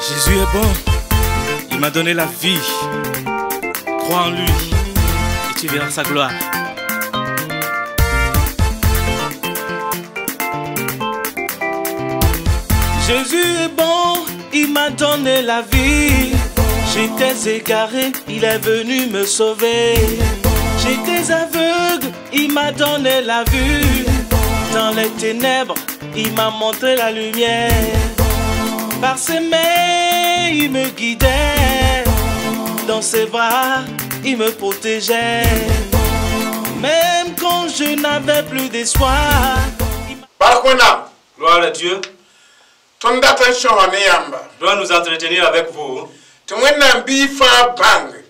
Jésus est bon. Il m'a donné la vie. Crois en lui et tu verras sa gloire. Jésus est bon, il m'a donné la vie. J'étais égaré, il est venu me sauver. J'étais aveugle, il m'a donné la vue. Dans les ténèbres, il m'a montré la lumière. Par ses mains, il me guidait. Dans ses bras, il me protégeait. Même quand je n'avais plus d'espoir. Gloire à Dieu. Doit nous entretenir avec vous.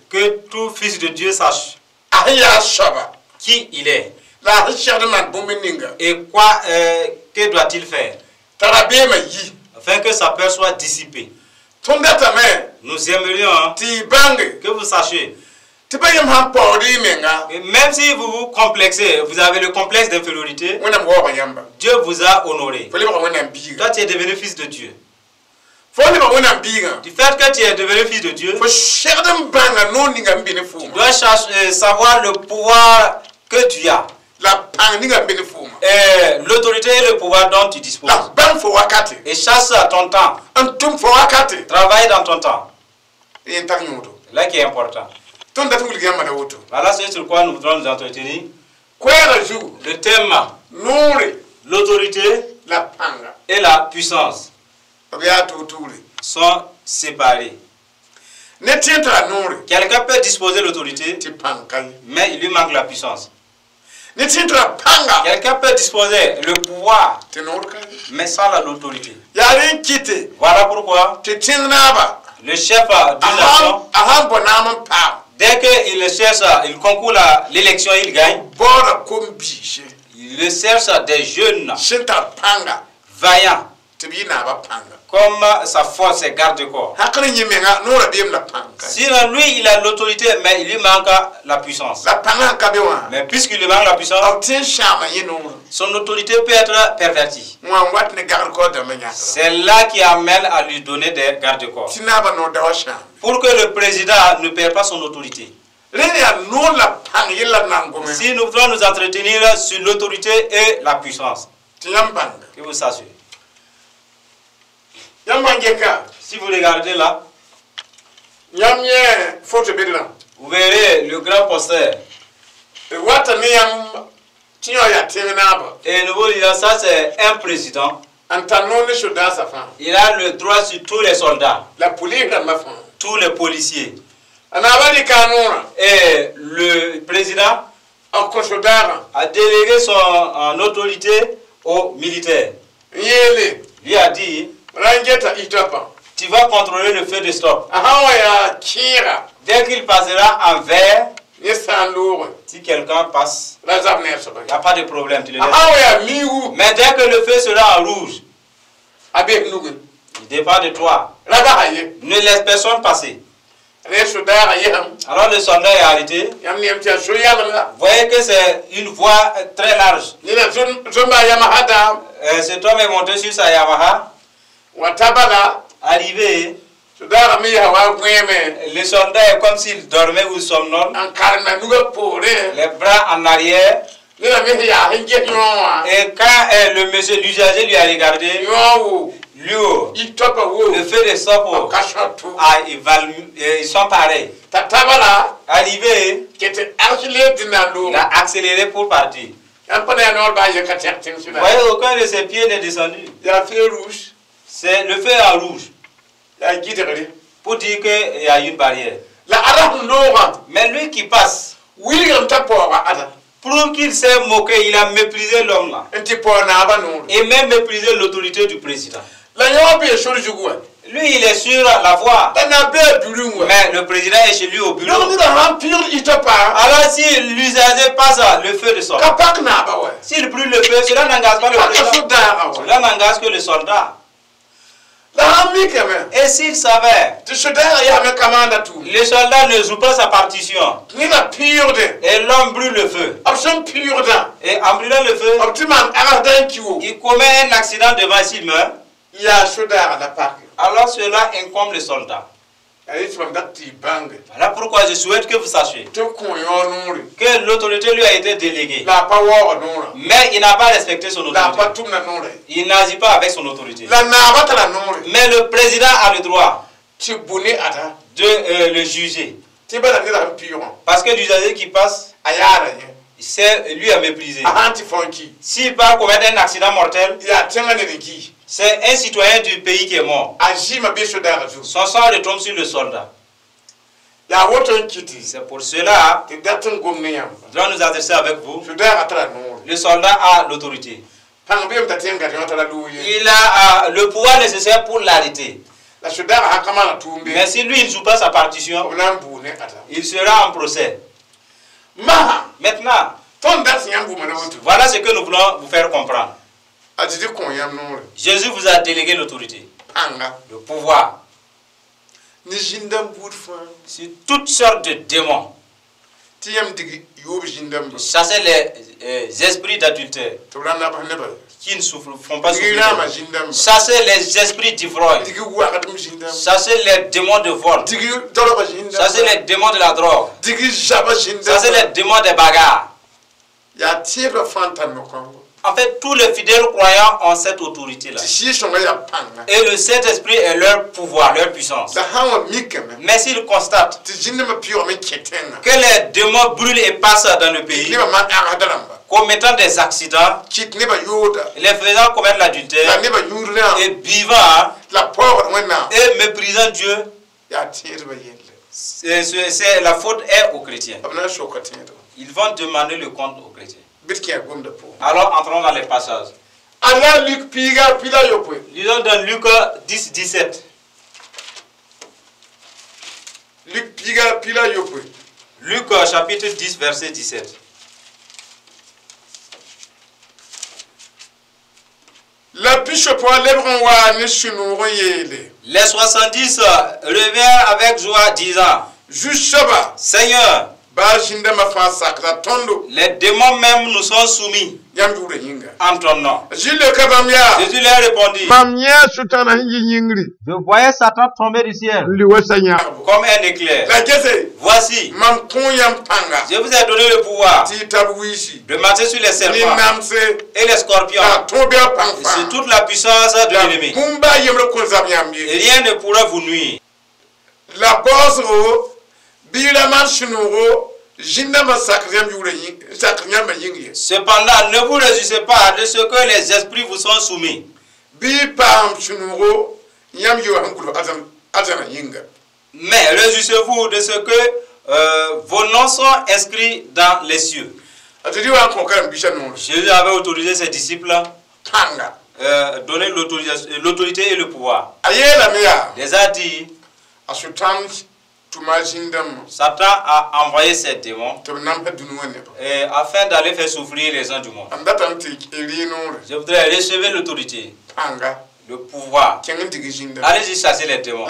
Que tout fils de Dieu sache qui il est et quoi, que doit-il faire afin que sa peur soit dissipée. Nous aimerions que vous sachiez que même si vous vous complexez, vous avez le complexe d'infériorité, Dieu vous a honoré. Toi, tu es devenu fils de Dieu. Du fait que tu es devenu fils de Dieu, tu dois savoir le pouvoir que tu as. Et l'autorité et le pouvoir dont tu disposes. Et chasse à ton temps. Travaille dans ton temps. Là qui est important. Voilà ce sur quoi nous voudrons nous entretenir. Le thème, l'autorité et la puissance sont séparés. Quelqu'un peut disposer de l'autorité, mais il lui manque la puissance. Quelqu'un peut disposer le pouvoir, mais sans l'autorité. Voilà pourquoi le chef d'une nation, dès qu'il cherche, il concourt l'élection, il gagne. Il cherche des jeunes vaillants, comme sa force et garde-corps. Sinon, lui, il a l'autorité, mais il lui manque la puissance. Mais puisqu'il lui manque la puissance, son autorité peut être pervertie. C'est là qui amène à lui donner des garde-corps. Pour que le président ne perde pas son autorité. Si nous voulons nous entretenir sur l'autorité et la puissance, que vous sachiez. Si vous regardez là, vous verrez le grand poster. Et nous vous disons, ça c'est un président. Il a le droit sur tous les soldats, tous les policiers. Et le président a délégué son autorité aux militaires. Lui a dit, tu vas contrôler le feu de stop. Dès qu'il passera en vert, si quelqu'un passe, il n'y a pas de problème. Tu le laisses. Mais dès que le feu sera en rouge, il dépend de toi. Ne laisse personne passer. Alors le soldat est arrêté. Vous voyez que c'est une voie très large. Cet homme est monté sur sa Yamaha. Arrivé, le soldat est comme s'il dormait ou somnole, les bras en arrière. Et quand le monsieur, l'usager lui a regardé, lui, le feu de stop, ah, ils sont pareils. Arrivé, il a accéléré pour partir. Vous voyez, aucun de ses pieds n'est descendu. C'est le feu en rouge. Pour dire qu'il y a une barrière. Mais lui qui passe, prouve qu'il s'est moqué, il a méprisé l'homme là. Et même méprisé l'autorité du président. Lui, il est sur la voie. Mais le président est chez lui au bureau. Alors si l'usager passe le feu de sort, s'il brûle le feu, cela n'engage pas le président. Cela n'engage que le soldat. Et s'il savait, le soldat ne joue pas sa partition. Et l'homme brûle le feu. Et en brûlant le feu, il commet un accident devant, s'il meurt. Alors cela incombe le soldat. Voilà pourquoi je souhaite que vous sachiez que l'autorité lui a été déléguée. Mais il n'a pas respecté son autorité. Il n'agit pas avec son autorité. Mais le président a le droit de le juger. Parce que l'usager qui passe, c'est lui a méprisé. S'il part commettre un accident mortel, c'est un citoyen du pays qui est mort. Son sang retombe sur le soldat. C'est pour cela que nous allons nous adresser avec vous. Le soldat a l'autorité. Il a le pouvoir nécessaire pour l'arrêter. Mais si lui il ne joue pas sa partition, il sera en procès. Maintenant, voilà ce que nous voulons vous faire comprendre. Jésus vous a délégué l'autorité, le pouvoir, sur toutes sortes de démons. Chasser les esprits d'adultère qui ne font pas souffrir. Chasser les esprits d'ivrognes. Chasser les démons de vol. Chasser les démons de la drogue. Chasser les démons des bagarres. En fait, tous les fidèles croyants ont cette autorité-là. Et le Saint-Esprit est leur pouvoir, leur puissance. Mais s'ils constatent que les démons brûlent et passent dans le pays, commettant des accidents, les faisant commettre l'adultère, et vivant, et méprisant Dieu, c'est la faute est aux chrétiens. Ils vont demander le compte aux chrétiens. Alors entrons dans les passages. Lisons dans Luc 10, 17. Luc chapitre 10, verset 17. Les 70 revinrent avec joie disant, Seigneur, les démons même nous sont soumis en ton nom. Jésus leur répondit, je voyais Satan tomber du ciel comme un éclair. Voici, je vous ai donné le pouvoir de marcher sur les serpents et les scorpions, et sur toute la puissance de l'ennemi. Et rien ne pourra vous nuire. Cependant, ne vous réjouissez pas de ce que les esprits vous sont soumis. Mais réjouissez-vous de ce que vos noms sont inscrits dans les cieux. Jésus avait autorisé ses disciples, donner l'autorité et le pouvoir. Il les a dit, Satan a envoyé ses démons afin d'aller faire souffrir les gens du monde. Je voudrais recevoir l'autorité, le pouvoir. Allez-y chasser les démons.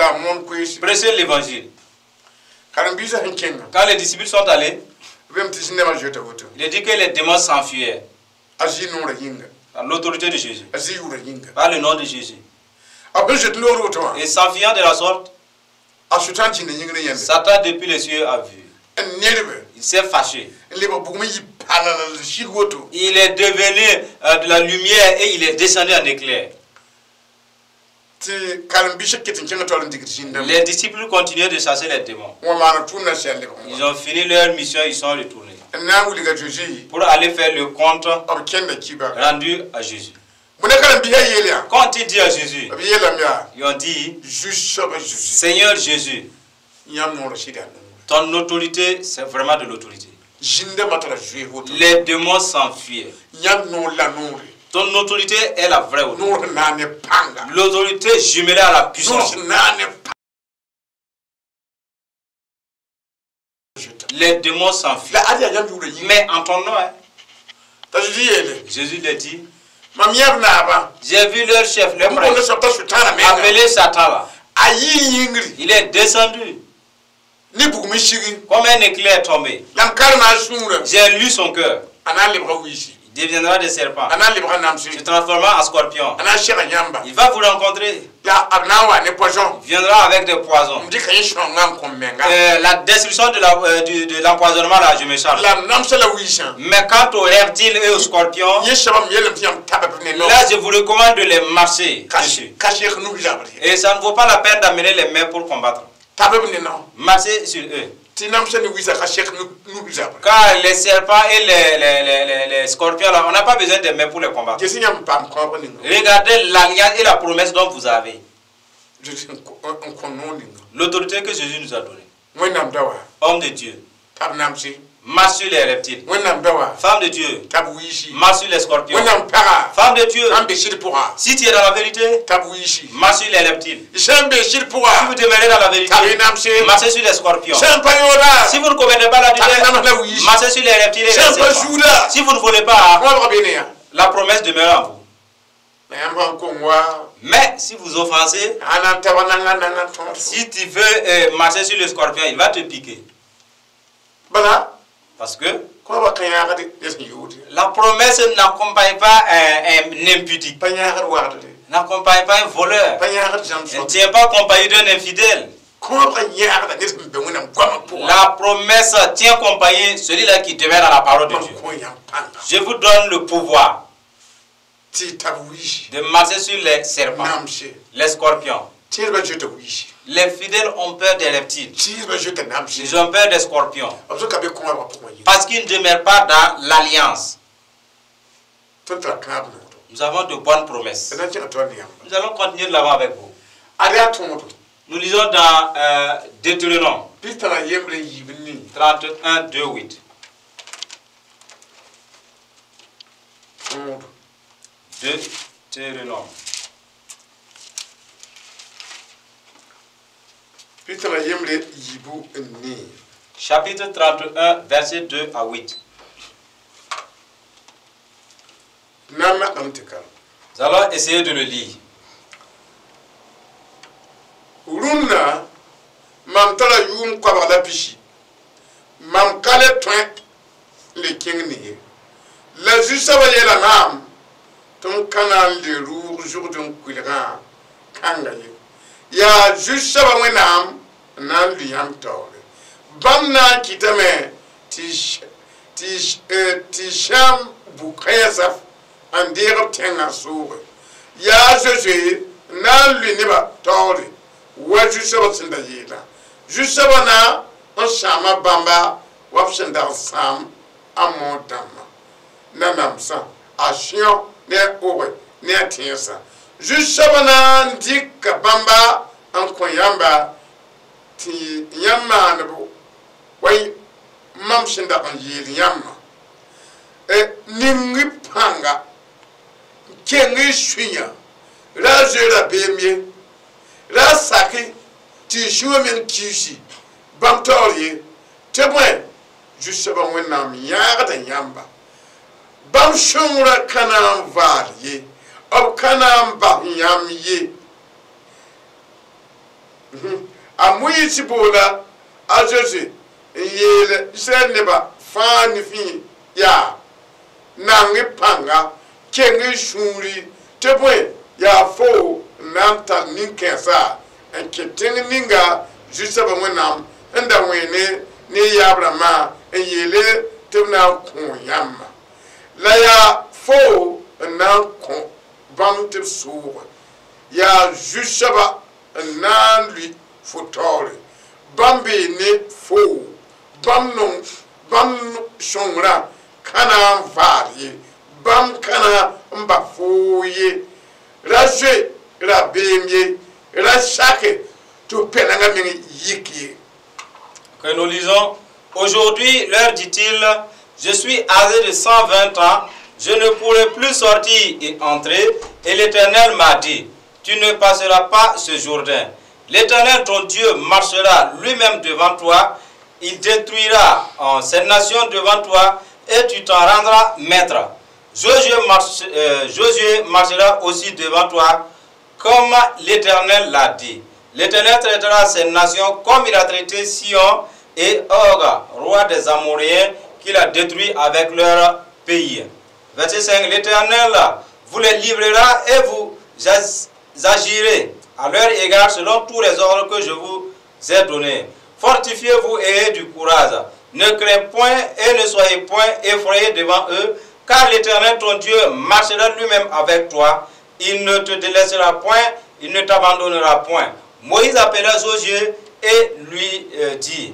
Prêchez l'évangile. Quand les disciples sont allés, il est dit que les démons s'enfuyaient. Par l'autorité de Jésus. Par le nom de Jésus. Et s'enfuyant de la sorte, Satan depuis les cieux a vu. Il s'est fâché. Il est devenu de la lumière et il est descendu en éclair. Les disciples continuaient de chasser les démons. Ils ont fini leur mission, ils sont retournés pour aller faire le compte rendu à Jésus. Quand il dit à Jésus, ils ont dit, Seigneur Jésus, ton autorité, c'est vraiment de l'autorité. Les démons s'enfuient. Ton autorité est la vraie autorité. L'autorité jumelée à la puissance. Les démons s'enfuient. Mais en ton nom, hein, Jésus l'a dit, j'ai vu leur chef, leur prêtre, appelé Satan là. Il est descendu comme un éclair tombé. J'ai lu son cœur. Deviendra des serpents. Se transformera en scorpion. Il va vous rencontrer. Il viendra avec des poisons. La destruction de l'empoisonnement, là, je me charge. Mais quant aux reptiles et aux scorpions, là, je vous recommande de les marcher dessus. Et ça ne vaut pas la peine d'amener les mains pour combattre. Marchez sur eux. Car les serpents et les scorpions, là, on n'a pas besoin de mains pour les combattre. Regardez l'alliance et la promesse dont vous avez. L'autorité que Jésus nous a donnée. Homme de Dieu, marche sur les reptiles. Femme de Dieu, marche sur les scorpions. Femme de Dieu, si tu es dans la vérité, marche sur les reptiles. Si vous demeurez dans la vérité, marchez sur les scorpions. Si vous ne commettez pas l'adultère, marchez sur les reptiles et les serpents. Si vous ne volez pas, la promesse demeure en vous. Mais si vous offensez, si tu veux marcher sur le scorpion, il va te piquer. Parce que la promesse n'accompagne pas un impudique, n'accompagne pas un voleur, ne tient pas compagnie d'un infidèle. La promesse tient compagnie celui-là qui demeure dans la parole de Dieu. Je vous donne le pouvoir de marcher sur les serpents, les scorpions. Les fidèles ont peur des reptiles. Ils ont peur des scorpions. Parce qu'ils ne demeurent pas dans l'alliance. Nous avons de bonnes promesses. Nous allons continuer de l'avant avec vous. Nous lisons dans Deutéronome 31, 2, 8. Deutéronome. Chapitre 31, versets 2 à 8. Nous allons essayer de le lire. Ya jusaba wẽnnaam n na n lʋ yãmb taoore bãmb na n kɩtame tɩ sãam bu-kãensã n deeg b tẽngã sooge yaa zoe-zoe n na n lʋ nebã taoore wa zu-soabã sẽn da yeelã zu-soabã na n sãama bãmba wa b sẽn dag n sãam a mood dãmbã nanamsã a sẽo ne a oge ne a tẽensã zu-soabã na n dɩka bãmba n kõ yãmba tɩ yãmb maaneb wa mam sẽn dag n yeel yãmbã ning y pãnga keng y sũyã ra a zoe rabeem ye ra a sake tɩ y sũwã meng kiisi bãmb taoor ye tɩ bõe zu-soabã wẽnnaam yãagda yãmba bãmb sõngrã ka na n vaal ye b ka na n bas yãmb ye a Moyiis boola a Zoze n yeel Israɛl nebã fãa nifẽ yaa nang y pãnga keng y sũuri tɩ bõe yaa fo n na n tar nin-kãensã n kẽ tẽng ninga zu-soabã wẽnnaam n da wẽene ne yaab rãmbã n yeele tɩ b na n kõ yãmba la yaa fo n na n kõ bãmb tɩ b sooge yaa zu-soabã n na n lʋ fo taoore bãmb bee ne fo bãmb sõngrã ka na n vaal ye bãmb ka na n ba foo ye ra zoe rabeem ye ra sake tɩ b pɛlengã meng yik ye. Que nous lisons. Aujourd'hui, leur dit-il, je suis âgé de 120 ans, je ne pourrai plus sortir et entrer. Et l'Éternel m'a dit, tu ne passeras pas ce Jourdain. L'Éternel, ton Dieu, marchera lui-même devant toi. Il détruira cette nation devant toi et tu t'en rendras maître. Josué marchera aussi devant toi, comme l'Éternel l'a dit. L'Éternel traitera ces nations comme il a traité Sion et Og, roi des Amoréens, qu'il a détruit avec leur pays. Verset 5, l'Éternel vous les livrera et vous agirez à leur égard selon tous les ordres que je vous ai donnés. Fortifiez-vous et ayez du courage. Ne craignez point et ne soyez point effrayés devant eux, car l'Éternel ton Dieu marchera lui-même avec toi. Il ne te délaissera point, il ne t'abandonnera point. Moïse appela Josué et lui dit,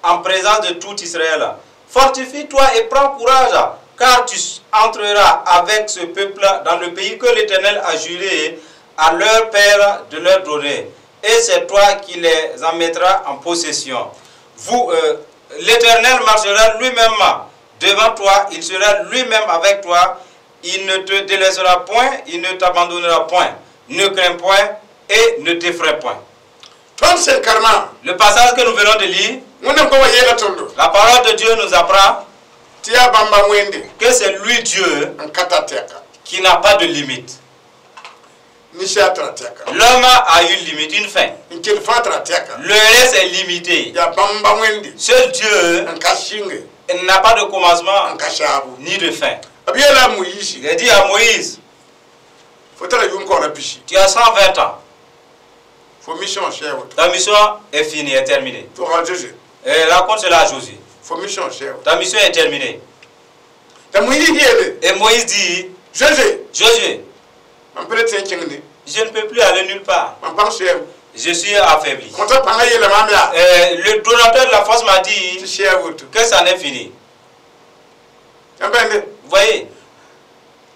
en présence de tout Israël, fortifie-toi et prends courage, car tu entreras avec ce peuple dans le pays que l'Éternel a juré à leur père de leur donner. Et c'est toi qui les en mettras en possession. Vous, l'Éternel marchera lui-même devant toi, il sera lui-même avec toi, il ne te délaissera point, il ne t'abandonnera point. Ne crains point et ne t'effraie point. Tõnd sẽn karema Le passage que nous venons de lire, Wẽnnaam goamã yeela tõndo la parole de Dieu nous apprend tɩ yaa bãmba wẽnde que c'est lui Dieu n ka tar tɛka qui n'a pas de limite. Ninsaal tara tɛka L'homme a une limite, une fin. N kell fãa tara tɛka Le reste est limité. Yaa bãmba wẽnde Seul Dieu n ka sɩnge n'a pas de commencement n ka saabo ni de fin. B yeela a Moyiisi Il a dit à Moïse, fo tara yʋʋm kaoora pisi tu as 120 ans. Fo mission sɛɛ woto Ta mission est finie, est terminée. Toga Zoe Et raconte cela à Josué. Fo mission sɛɛ woto Ta mission est terminée. T'a Moyiis yeele Et Moïse dit, Zoe Josué, mam pa le tõe n kẽngde je ne peux plus aller nulle part. Mam pãng sɛɛm Je suis affaibli. Kõta pãngã yeela maam yaa Le donateur de la force m'a tɩ dit sɛɛ woto que ça n'est fini. Yãmb bãnde Vous voyez,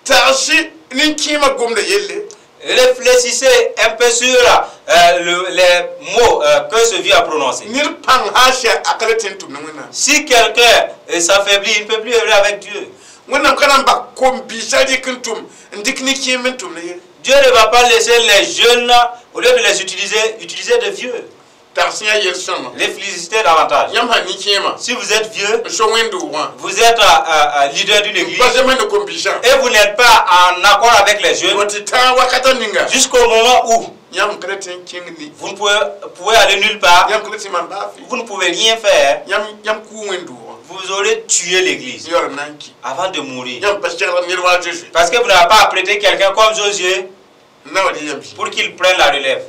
tagsɩ nin-kẽemã gomda yelle réfléchissez un peu sur les mots que ce vieux a prononcés. Ned pãng sã n sɛ a ka le tõe n tʋm ne Wẽnnaam Si quelqu'un s'affaiblit, il ne peut plus œuvrer avec Dieu. Wẽnnaam ka na n bak kom-biisã rɩk n tʋm n dɩk ne-kẽem n tʋmd ye Dieu ne va pas laisser les jeunes, au lieu de les utiliser, utiliser des vieux. Tags yã yel-sõma Réfléchissez davantage. Yãmb sã nin-kẽemã Si vous êtes vieux, n so wẽnd-doogã vous êtes leader d'une église pa zema ne kom-biisã et vous n'êtes pas en accord avec les jeunes fo tɩ tãag wakata ninga jusqu'au moment où yãmb ka le tõe n kẽng ne vous ne pouvez aller nulle part, yãmb ka le tɩ maan baa fɩ vous ne pouvez rien faire, yãmb yãmb kʋʋ wẽnd-doogã vous aurez tué l'église yaool n na n ki avant de mourir. Yãmb pa segl ned wa Zoe Parce que vous n'avez pas apprêté quelqu'un comme Josué n na wa dɩ yãmb pour qu'il prenne la relève.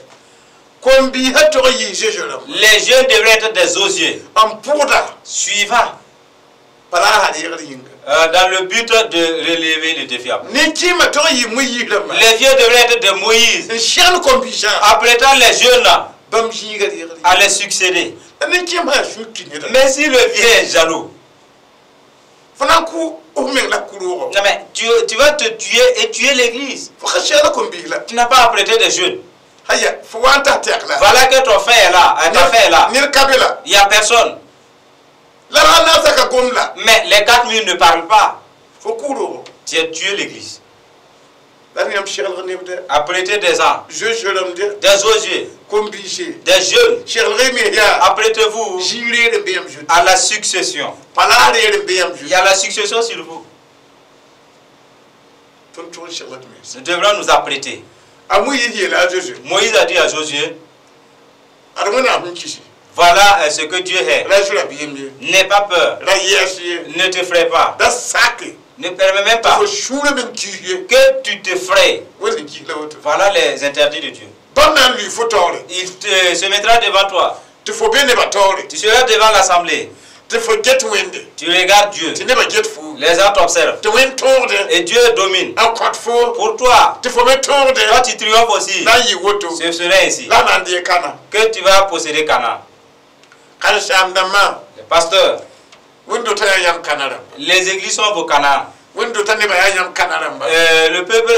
Kom-biisã tog n yɩɩ Zoe rãmba Les jeunes devraient être des Josué n pʋgda suivants pa la a sã reegd yĩnga dans le but de relever le défi. Nin-kẽemã tog n yɩ Moyiis rãmba Les vieux devraient être des Moïse, n segl kom-biisã apprêtant les jeunes bãmb zĩiga reegd à les succéder. La nin-kẽem sã sũ ki neda Mais si le vieux est jaloux, fo na n kʋ f meng la ku-roogɔ non mais tu vas te tuer et tuer l'église. Fo ka segla kom-biis la Tu n'as pas apprêté des jeunes. Aya fo wa n tas tɛk la Voilà que ton fin est là, ta fin est là. Ned ka be la Il n'y a personne. La ra naasã ka gom la Mais les 4000 ne parlent pas. Fo ku-roogɔ Tu as tué l'église. La yãmb seglg nebda Apprêter des gens, Zoe rãmb de des Josué, kom-biise des jeunes. seglg y me yaa Apprêtez-vous zĩig reer n be yãmb zutu à la succession. palaas reer n be yãmb Il zutu y a la succession sur vous. Tõnd tʋg n segl d mens Nous devrons nous apprêter. A Moyiis yeela a Zoe Moïse a dit à Josué, ad Wẽnnaam sẽn kisi voilà ce que Dieu est. Ra zu rabiim ye N'aie pas peur, ra yɛɛs ye ne t'effraie pas, da sake ne permets même pas fo sũurã me n kiis ye que tu t'effraies. Wẽnd sẽn kiis la woto Voilà les interdits de Dieu. Bãmb na n lʋɩ fo taoore Il se mettra devant toi. Tɩ fo be nebã taoore Tu seras devant l'assemblée. Tɩ fo get Wẽnde Tu regardes Dieu. Tɩ nebã get fo Les gens t'observent. Tɩ Wẽnd tõogde Et Dieu domine. N kõt fo Pour toi, Tɩ fo me tõogde toi tu triomphes aussi. Na n yɩ woto Ce sera ainsi La na n dee Kana que tu vas posséder Canaan. Karen-saam-dãmbã Les pasteurs, wẽnd-dotã yaa yãmb Kana rãmba les églises sont vos Canaan. Wẽnd-dotã nebã yaa yãmb Kana rãmba Le peuple,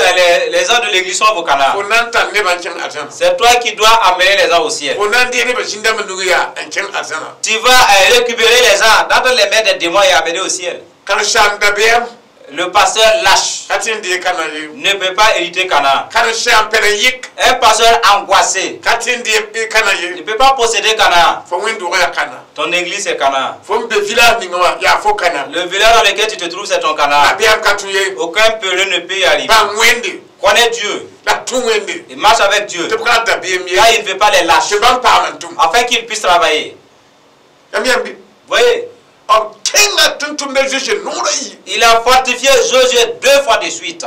les gens de l'église sont vos Canaan. Fo na n tar nebã n kẽng arzãna C'est toi qui dois amener les gens au ciel. Fo na n dee nebã zĩn-dãmbã nug yaa n kẽng arzãna Tu vas récupérer les gens dans les mains des démons et amener au ciel. Karen-saam dabeem Le pasteur lâche ka tõe n dee Kana ye ne peut pas hériter Canaan. Karen-saam pɛrɛn-yɩk Un pasteur angoissé ka tõe n dee Kana ne ye peut pas posséder Canaan. Fo wẽnd-doogã yaa Kana Ton église c'est Canaan. Fo n be village ninga wã yaa fo Kana Le village dans lequel tu te trouves, c'est ton Canaan. Dabeem ka tũ ye Aucun peureux ne peut y arriver. Bãng Wẽnde Connais Dieu la tũ Wẽnde et marche avec Dieu. Tɩ b ka dabeem ye Car il ne veut pas les lâcher tɩ bãmb paam n tʋm afin qu'ils puissent travailler. Yãmb yãmb Voyez, Il a fortifié Josué 2 fois de suite.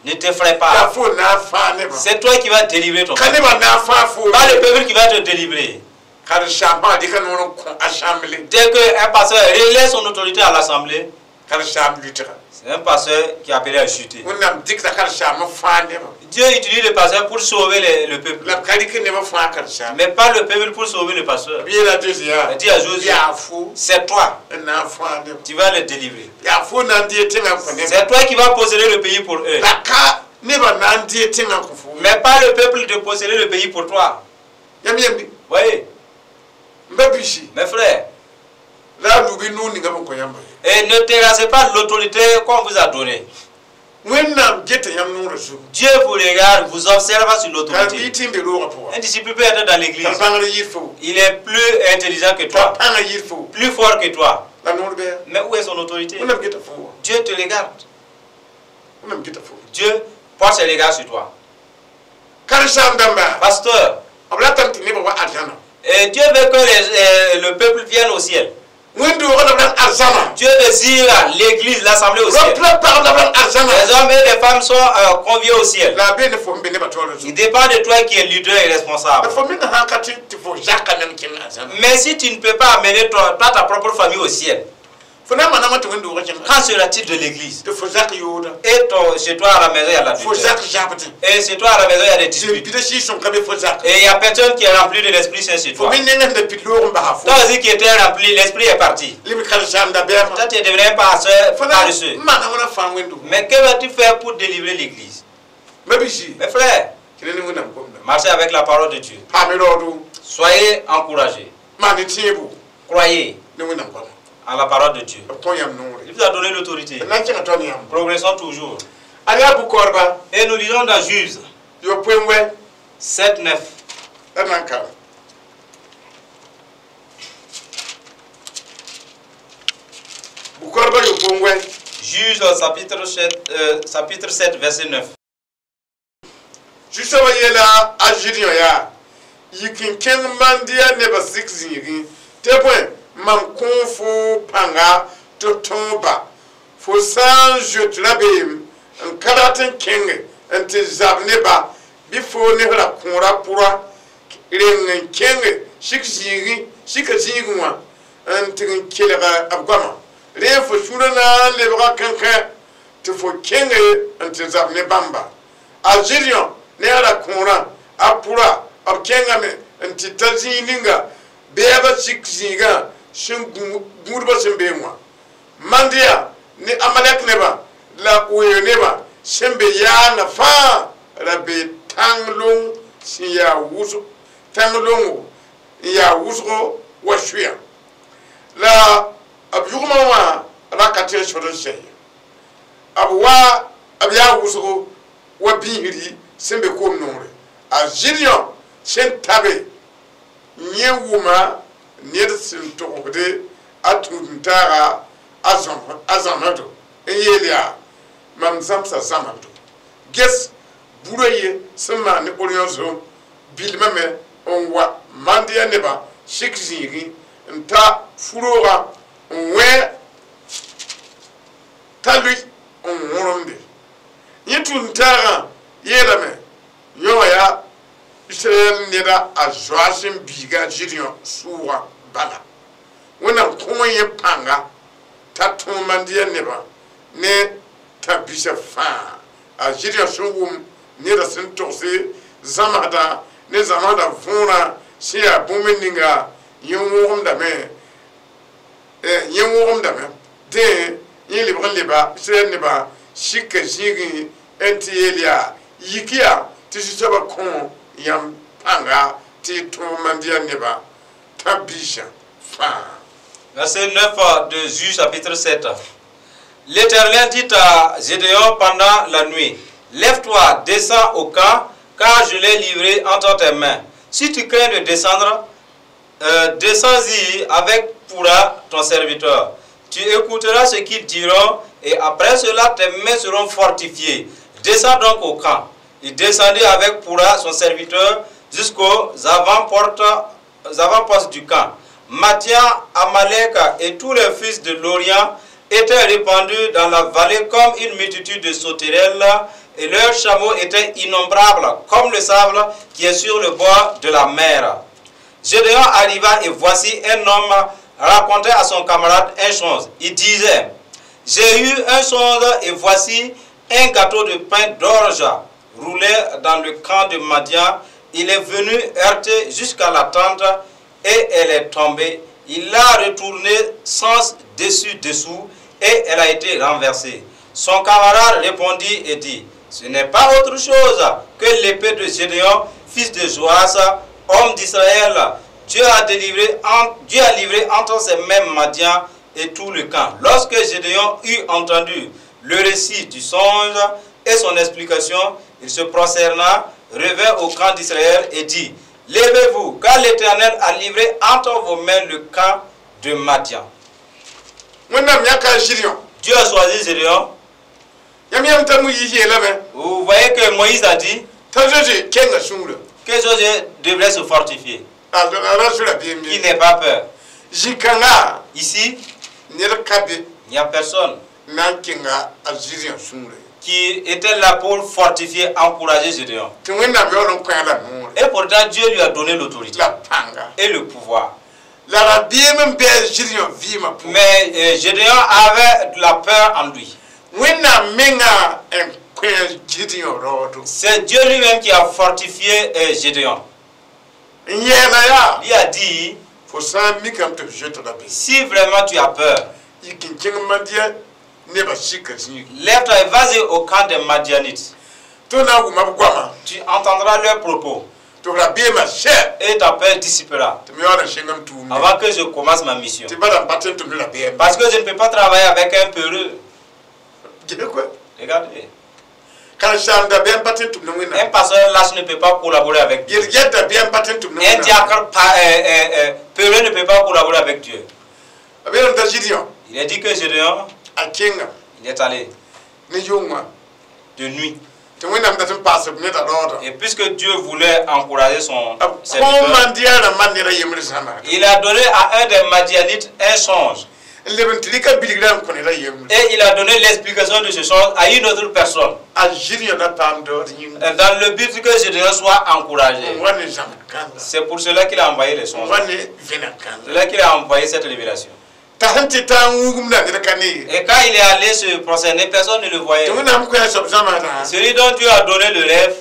Ne t'effraie pas. C'est toi qui vas délivrer ton peuple. Pas le peuple qui va te délivrer. Dès qu'un pasteur relaie son autorité à l'assemblée, c'est un pasteur qui est appelé à chuter. Dieu utilise le pasteur pour sauver le peuple. Mais pas le peuple pour sauver le pasteur. Il dit à Josué, c'est toi. Tu vas le délivrer. C'est toi qui vas posséder le pays pour eux. Mais pas le peuple de posséder le pays pour toi. Voyez. Mes frères, et ne terrassez pas l'autorité qu'on vous a donnée. Dieu vous regarde, vous observe sur l'autorité. Un disciple peut être dans l'église. Il est plus intelligent que toi, plus fort que toi. Mais où est son autorité? Dieu te regarde. Dieu porte ses regards sur toi. Pasteur, et Dieu veut que le peuple vienne au ciel. Dieu désire l'église, l'assemblée au ciel. Les hommes et les femmes sont conviés au ciel. Il dépend de toi qui es leader et responsable. Mais si tu ne peux pas amener toi, ta propre famille au ciel, quand sera-t-il de l'église? Et chez toi à la maison, il y a la Et chez toi à la maison, il y a des disputes. Et il n'y a personne qui est rempli de l'Esprit Saint chez toi. Toi aussi qui étais rempli, l'Esprit est parti. Toi, tu es devenu un pasteur paresseux. Mais que vas-tu faire pour délivrer l'église? Mes frères, marchez avec la parole de Dieu. Soyez encouragés. Croyez à la parole de Dieu. Il vous a donné l'autorité. Progressons toujours. Et nous lisons dans Juges 7, 9. Juges chapitre 7, verset 9. Mam kõ fo pãnga tɩ tõoba fo sã n zoet rabeem n ka rat n kẽnge n tɩ zab neba bɩ fo nesra kõora pʋra reng n kẽnge sik sika zĩigẽ wã n tɩg n kelg b goama rẽ fo sũurã na n lebga kãnkã tɩ fo kẽnge n tɩ zab ne bãmba a Gideon ne a ra kõorã a pʋra b kẽngame n tɩ ta zĩig ninga bɛɛba sik zĩigã sẽn gũudba sẽn bee wã Mandia ne Amalek neba la oeeg neba sẽn be yaanga fãa ra be tãng-long sẽn yaa wʋsg tãng-longo n yaa wʋsgo wa sʋya la b yʋgmã wã ra ka tɩ n sod n sɛ ye b wa b yaa wʋsgo wa biisri sẽn be koom nongre a Gideon sẽn tabe yẽ wʋma ned sẽn togsde a tũud-n-taaga a zãmsdo n yeel yaa mam zãmsa zãmsdo ges burã ye sẽn maan ne oryõ zom bilmame n wa Mandia neba sik zĩigẽ n ta furoogã n wẽ t'a lʋɩ n wõremde yẽ tũud-n-taagã yeelame yõ wã yaa Israɛl neda a zoa sẽn biiga Gideon sʋʋga bala Wẽnnaam kõ yẽ pãnga t'a tõog Mandia nebã ne t'a bisa fãa a Gideon sẽn wʋm neda sẽn togse zãmsdã ne zãmsdã võorã sẽn yaa bũmb ninga yẽ wõgemdame dẽ yẽ lebg n leba Israɛl nebã sika zĩigẽ n tɩ yeel yaa yik yaa tɩ zu-soabã kõ yãmb pãnga tɩ tõog Mandia nebã t'a biisã fãa. Verset 9 de Juges chapitre 7. L'Éternel dit à Gédéon pendant la nuit, lève-toi, descends au camp, car je l'ai livré entre tes mains. Si tu crains de descendre, descends-y avec Pura, ton serviteur. Tu écouteras ce qu'ils diront, et après cela, tes mains seront fortifiées. Descends donc au camp. Il descendit avec Pura, son serviteur, jusqu'aux avant-postes du camp. Madian, Amalek et tous les fils de l'Orient étaient répandus dans la vallée comme une multitude de sauterelles, et leurs chameaux étaient innombrables, comme le sable qui est sur le bord de la mer. Gédéon arriva et voici un homme racontait à son camarade un songe. Il disait: j'ai eu un songe et voici un gâteau de pain d'orge roulait dans le camp de Madian. Il est venu heurter jusqu'à la tente et elle est tombée. Il l'a retournée sens dessus-dessous et elle a été renversée. Son camarade répondit et dit: ce n'est pas autre chose que l'épée de Gédéon, fils de Joas, homme d'Israël. Dieu a livré entre ses mains Madian et tout le camp. Lorsque Gédéon eut entendu le récit du songe et son explication, il se prosterna, revint au camp d'Israël et dit: levez-vous, car l'Éternel a livré entre vos mains le camp de Madian. Dieu a choisi Gédéon. Vous voyez que Moïse a dit que Josué devrait se fortifier. Qu'il n'ait pas peur. Ici, il n'y a personne qui était là pour fortifier, encourager Gédéon. Et pourtant, Dieu lui a donné l'autorité et le pouvoir. Mais Gédéon avait de la peur en lui. C'est Dieu lui-même qui a fortifié Gédéon. Il a dit, si vraiment tu as peur, lève-toi et vas-y au camp des Madianites. Tu entendras leurs propos et ta peur dissipera avant que je commence ma mission. Parce que je ne peux pas travailler avec un peureux. Regardez. Un pasteur lâche ne peut pas collaborer avec Dieu. Un diacre peureux ne peut pas collaborer avec Dieu. Il a dit que Gédéon, il est allé de nuit. Et puisque Dieu voulait encourager son serviteur, il a donné à un des Madianites un songe. Et il a donné l'explication de ce songe à une autre personne. Dans le but que Gédéon soit encouragé. C'est pour cela qu'il a envoyé les songes. C'est là qu'il a envoyé cette révélation. Et quand il est allé se prosterner, personne ne le voyait. Celui dont Dieu a donné le rêve,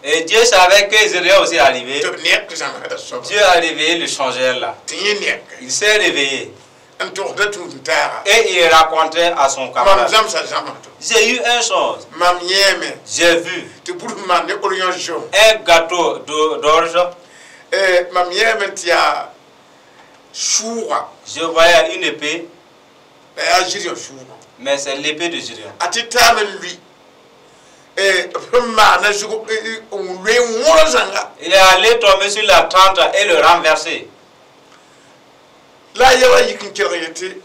et Dieu savait que Gédéon aussi arrivait. Dieu a réveillé le changeur là. Il s'est réveillé. Et il racontait à son camarade: j'ai eu un songe. J'ai vu un gâteau d'orge. Je voyais une épée, mais c'est l'épée de Gédéon. Il est allé tomber sur la tente et le renverser.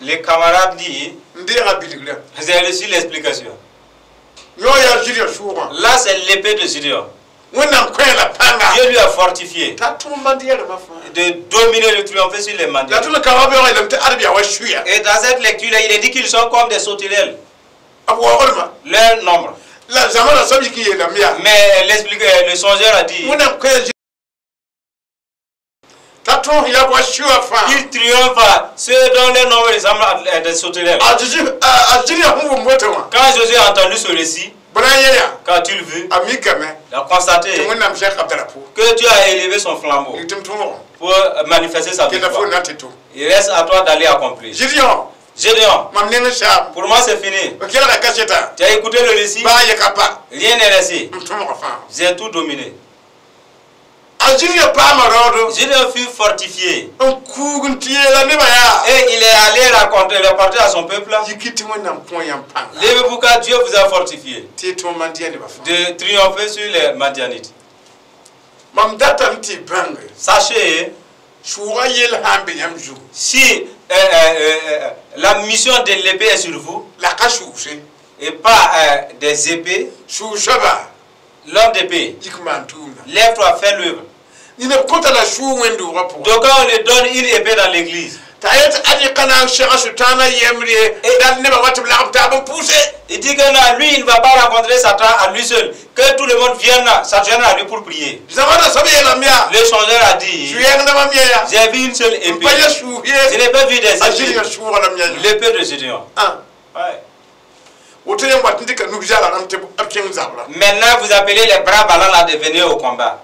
Les camarades disent, j'ai reçu l'explication. Là, c'est l'épée de Gédéon. Dieu lui a fortifié de dominer, de triompher sur les Madianites. Et dans cette lecture-là, il est dit qu'ils sont comme des sauterelles. Leur nombre. Mais le songeur a dit qu'il triomphe ceux dont les nombres ressemblent à des sauterelles. Quand Jésus a entendu ce récit, quand tu le vu, il a constaté que Dieu a élevé son flambeau pour manifester sa victoire. Il reste à toi d'aller accomplir. Gédéon, pour moi c'est fini. Tu as écouté le récit, rien n'est resté. J'ai tout dominé. Gédéon fut fortifié. Et il est allé raconter, rapporter à son peuple. Levez-vous car Dieu vous a fortifié de triompher sur les Madianites. Sachez, si la mission de l'épée est sur vous, et pas des épées, l'homme d'épée, lève-toi, fais l'œuvre. Donc on lui donne une épée dans l'église. Il dit que non, lui, il ne va pas rencontrer Satan à lui seul. Que tout le monde vienne s'adjoindre à lui pour prier. Le songeur a dit, j'ai vu une seule épée. Je n'ai pas vu des épées. L'épée de Gédéon. Ouais. Maintenant, vous appelez les bras ballants là de venir au combat.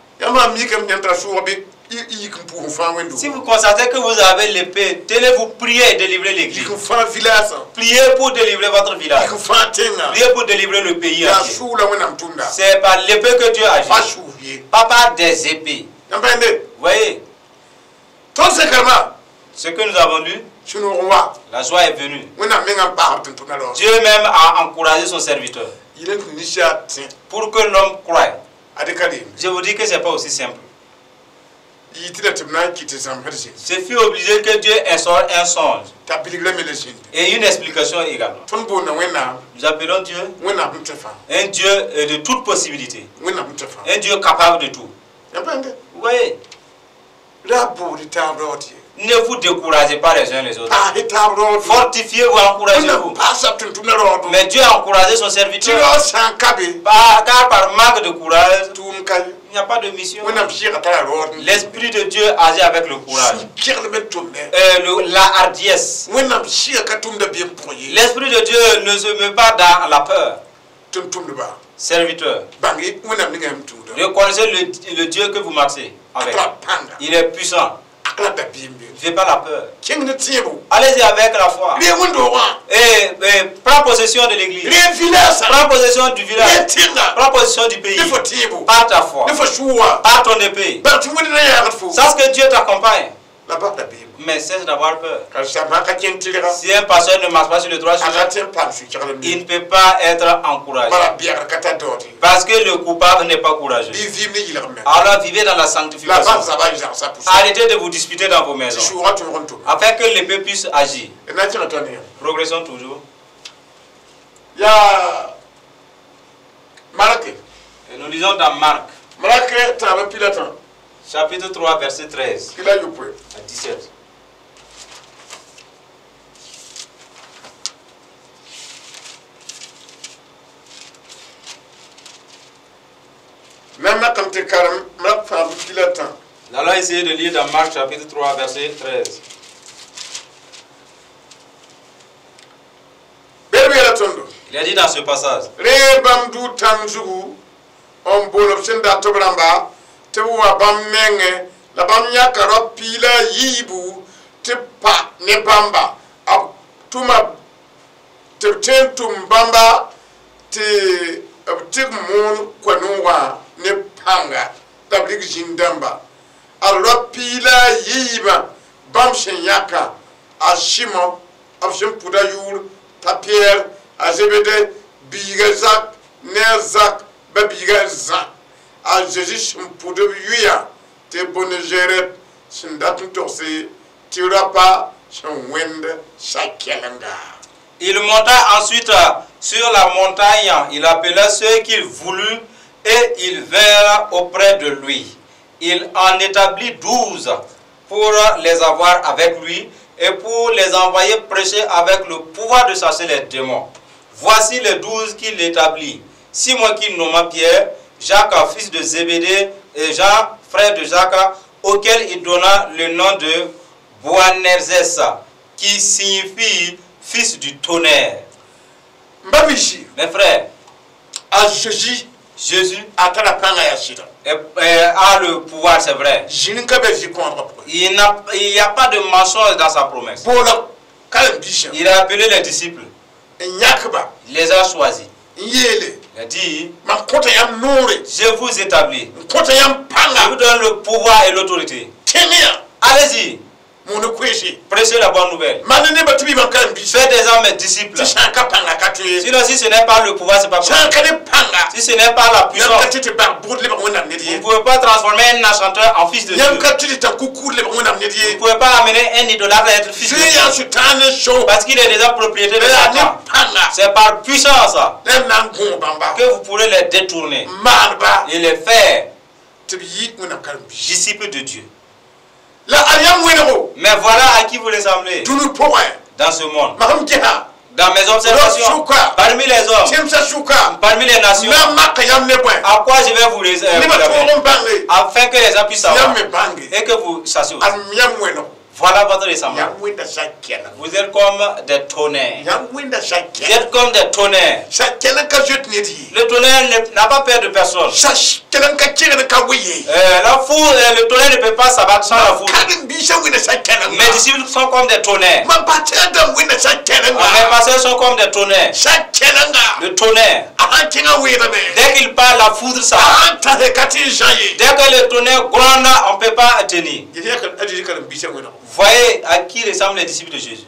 Si vous constatez que vous avez l'épée, tenez-vous prier et délivrer l'église. Priez pour délivrer votre village. Priez pour délivrer le pays. C'est par l'épée que Dieu agit. Pas par des épées. Vous voyez? Ce que nous avons lu, la joie est venue. Dieu même a encouragé son serviteur pour que l'homme croie. Je vous dis que ce n'est pas aussi simple. Je suis obligé que Dieu instaure un songe et une explication également. Nous appelons Dieu un Dieu de toute possibilité, un Dieu capable de tout. Vous voyez? Ne vous découragez pas les uns les autres. Fortifiez-vous, encouragez-vous. Mais Dieu a encouragé son serviteur. Car par manque de courage, il n'y a pas de mission. L'Esprit de Dieu agit avec le courage. La hardiesse. L'Esprit de Dieu ne se met pas dans la peur. Serviteur, reconnaissez le Dieu que vous marchez avec. Il est puissant. Je n'ai pas la peur. Allez-y avec la foi. Et prends possession de l'église. Prends possession du village. Prends possession du pays. Par ta foi. Par ton épée. Sache que Dieu t'accompagne. Mais cesse d'avoir peur. Si un pasteur ne marche pas sur le droit chemin, il ne peut pas être encouragé. Parce que le coupable n'est pas courageux. Alors vivez dans la sanctification. Arrêtez de vous disputer dans vos maisons. Afin que l'épée puisse agir. Progressons toujours. Et nous lisons dans Marc. Chapitre 3, verset 13 à 17. Nous allons essayer de lire dans Marc chapitre 3, verset 13. Il a dit dans ce passage. Il monta ensuite sur la montagne, il appela ceux qu'il voulut et ils vinrent auprès de lui. Il en établit 12 pour les avoir avec lui et pour les envoyer prêcher avec le pouvoir de chasser les démons. Voici les 12 qu'il établit. Simon qui nomma Pierre, Jacques, fils de Zébédée, et Jean, frère de Jacques, auquel il donna le nom de Boanerges, qui signifie fils du tonnerre. Mes frères, Jésus a le pouvoir, c'est vrai. Il n'y a pas de mensonge dans sa promesse. Il a appelé les disciples. Il les a choisis. Il a dit, je vous établis. Je vous donne le pouvoir et l'autorité. Allez-y. Prêchez la bonne nouvelle. Faites des hommes mes disciples. Sinon, si ce n'est pas le pouvoir, ce n'est pas possible. Si ce n'est pas la puissance, vous ne pouvez pas transformer un enchanteur en fils de Dieu. Vous ne pouvez pas amener un idolâtre à être fils de Dieu. Parce qu'il est déjà propriétaire de Satan. C'est par puissance que vous pourrez les détourner et les faire. Tɩ b yɩ Wẽnnaam karen-biis. Disciples de Dieu. La ad yãmb wẽnego Mais voilà à qui vous ressemblez dũni pʋgẽ. Dans ce monde. Mam sẽn gesa Dans mes observations, Sʋka. Parmi les hommes, tẽmsã sʋka parmi les nations, na n maka yãmb ne bõe à quoi je vais vous nebã vous tõog n bãnge afin que les gens puissent yãmb savoir me bãnge et que vous sachiez aussi. Ad yãmb wẽnego Voilà votre ressemblance. yãmb wẽnda sa-kɛleng Vous êtes comme des tonnerres. yãmb wẽnda Vous sa-kɛleng êtes comme des tonnerres. sa-kɛleng ka zoet ned ye Le tonnerre n'a pas peur de personne. sa-kɛleng ka kẽgd ka we ye La foudre, le tonnerre ne peut pas s'abattre sans la foudre. karen-biisã wẽnda sa-kɛlenga Mes disciples sont comme des tonnerres. mam pa tẽeg dãmb wẽnda sa-kɛlenga Mes pasteurs sont comme des tonnerres. sa-kɛlenga Le tonnerre. A sãn kẽngã weedame Dès qu'il parle, la foudre a s'abat. sãn tase ka tɩ n zã ye Dès que le tonnerre gronde, on ne peut pas tenir. a Zeezi karen-biisã wẽnego Voyez à qui ressemblent les disciples de Jésus.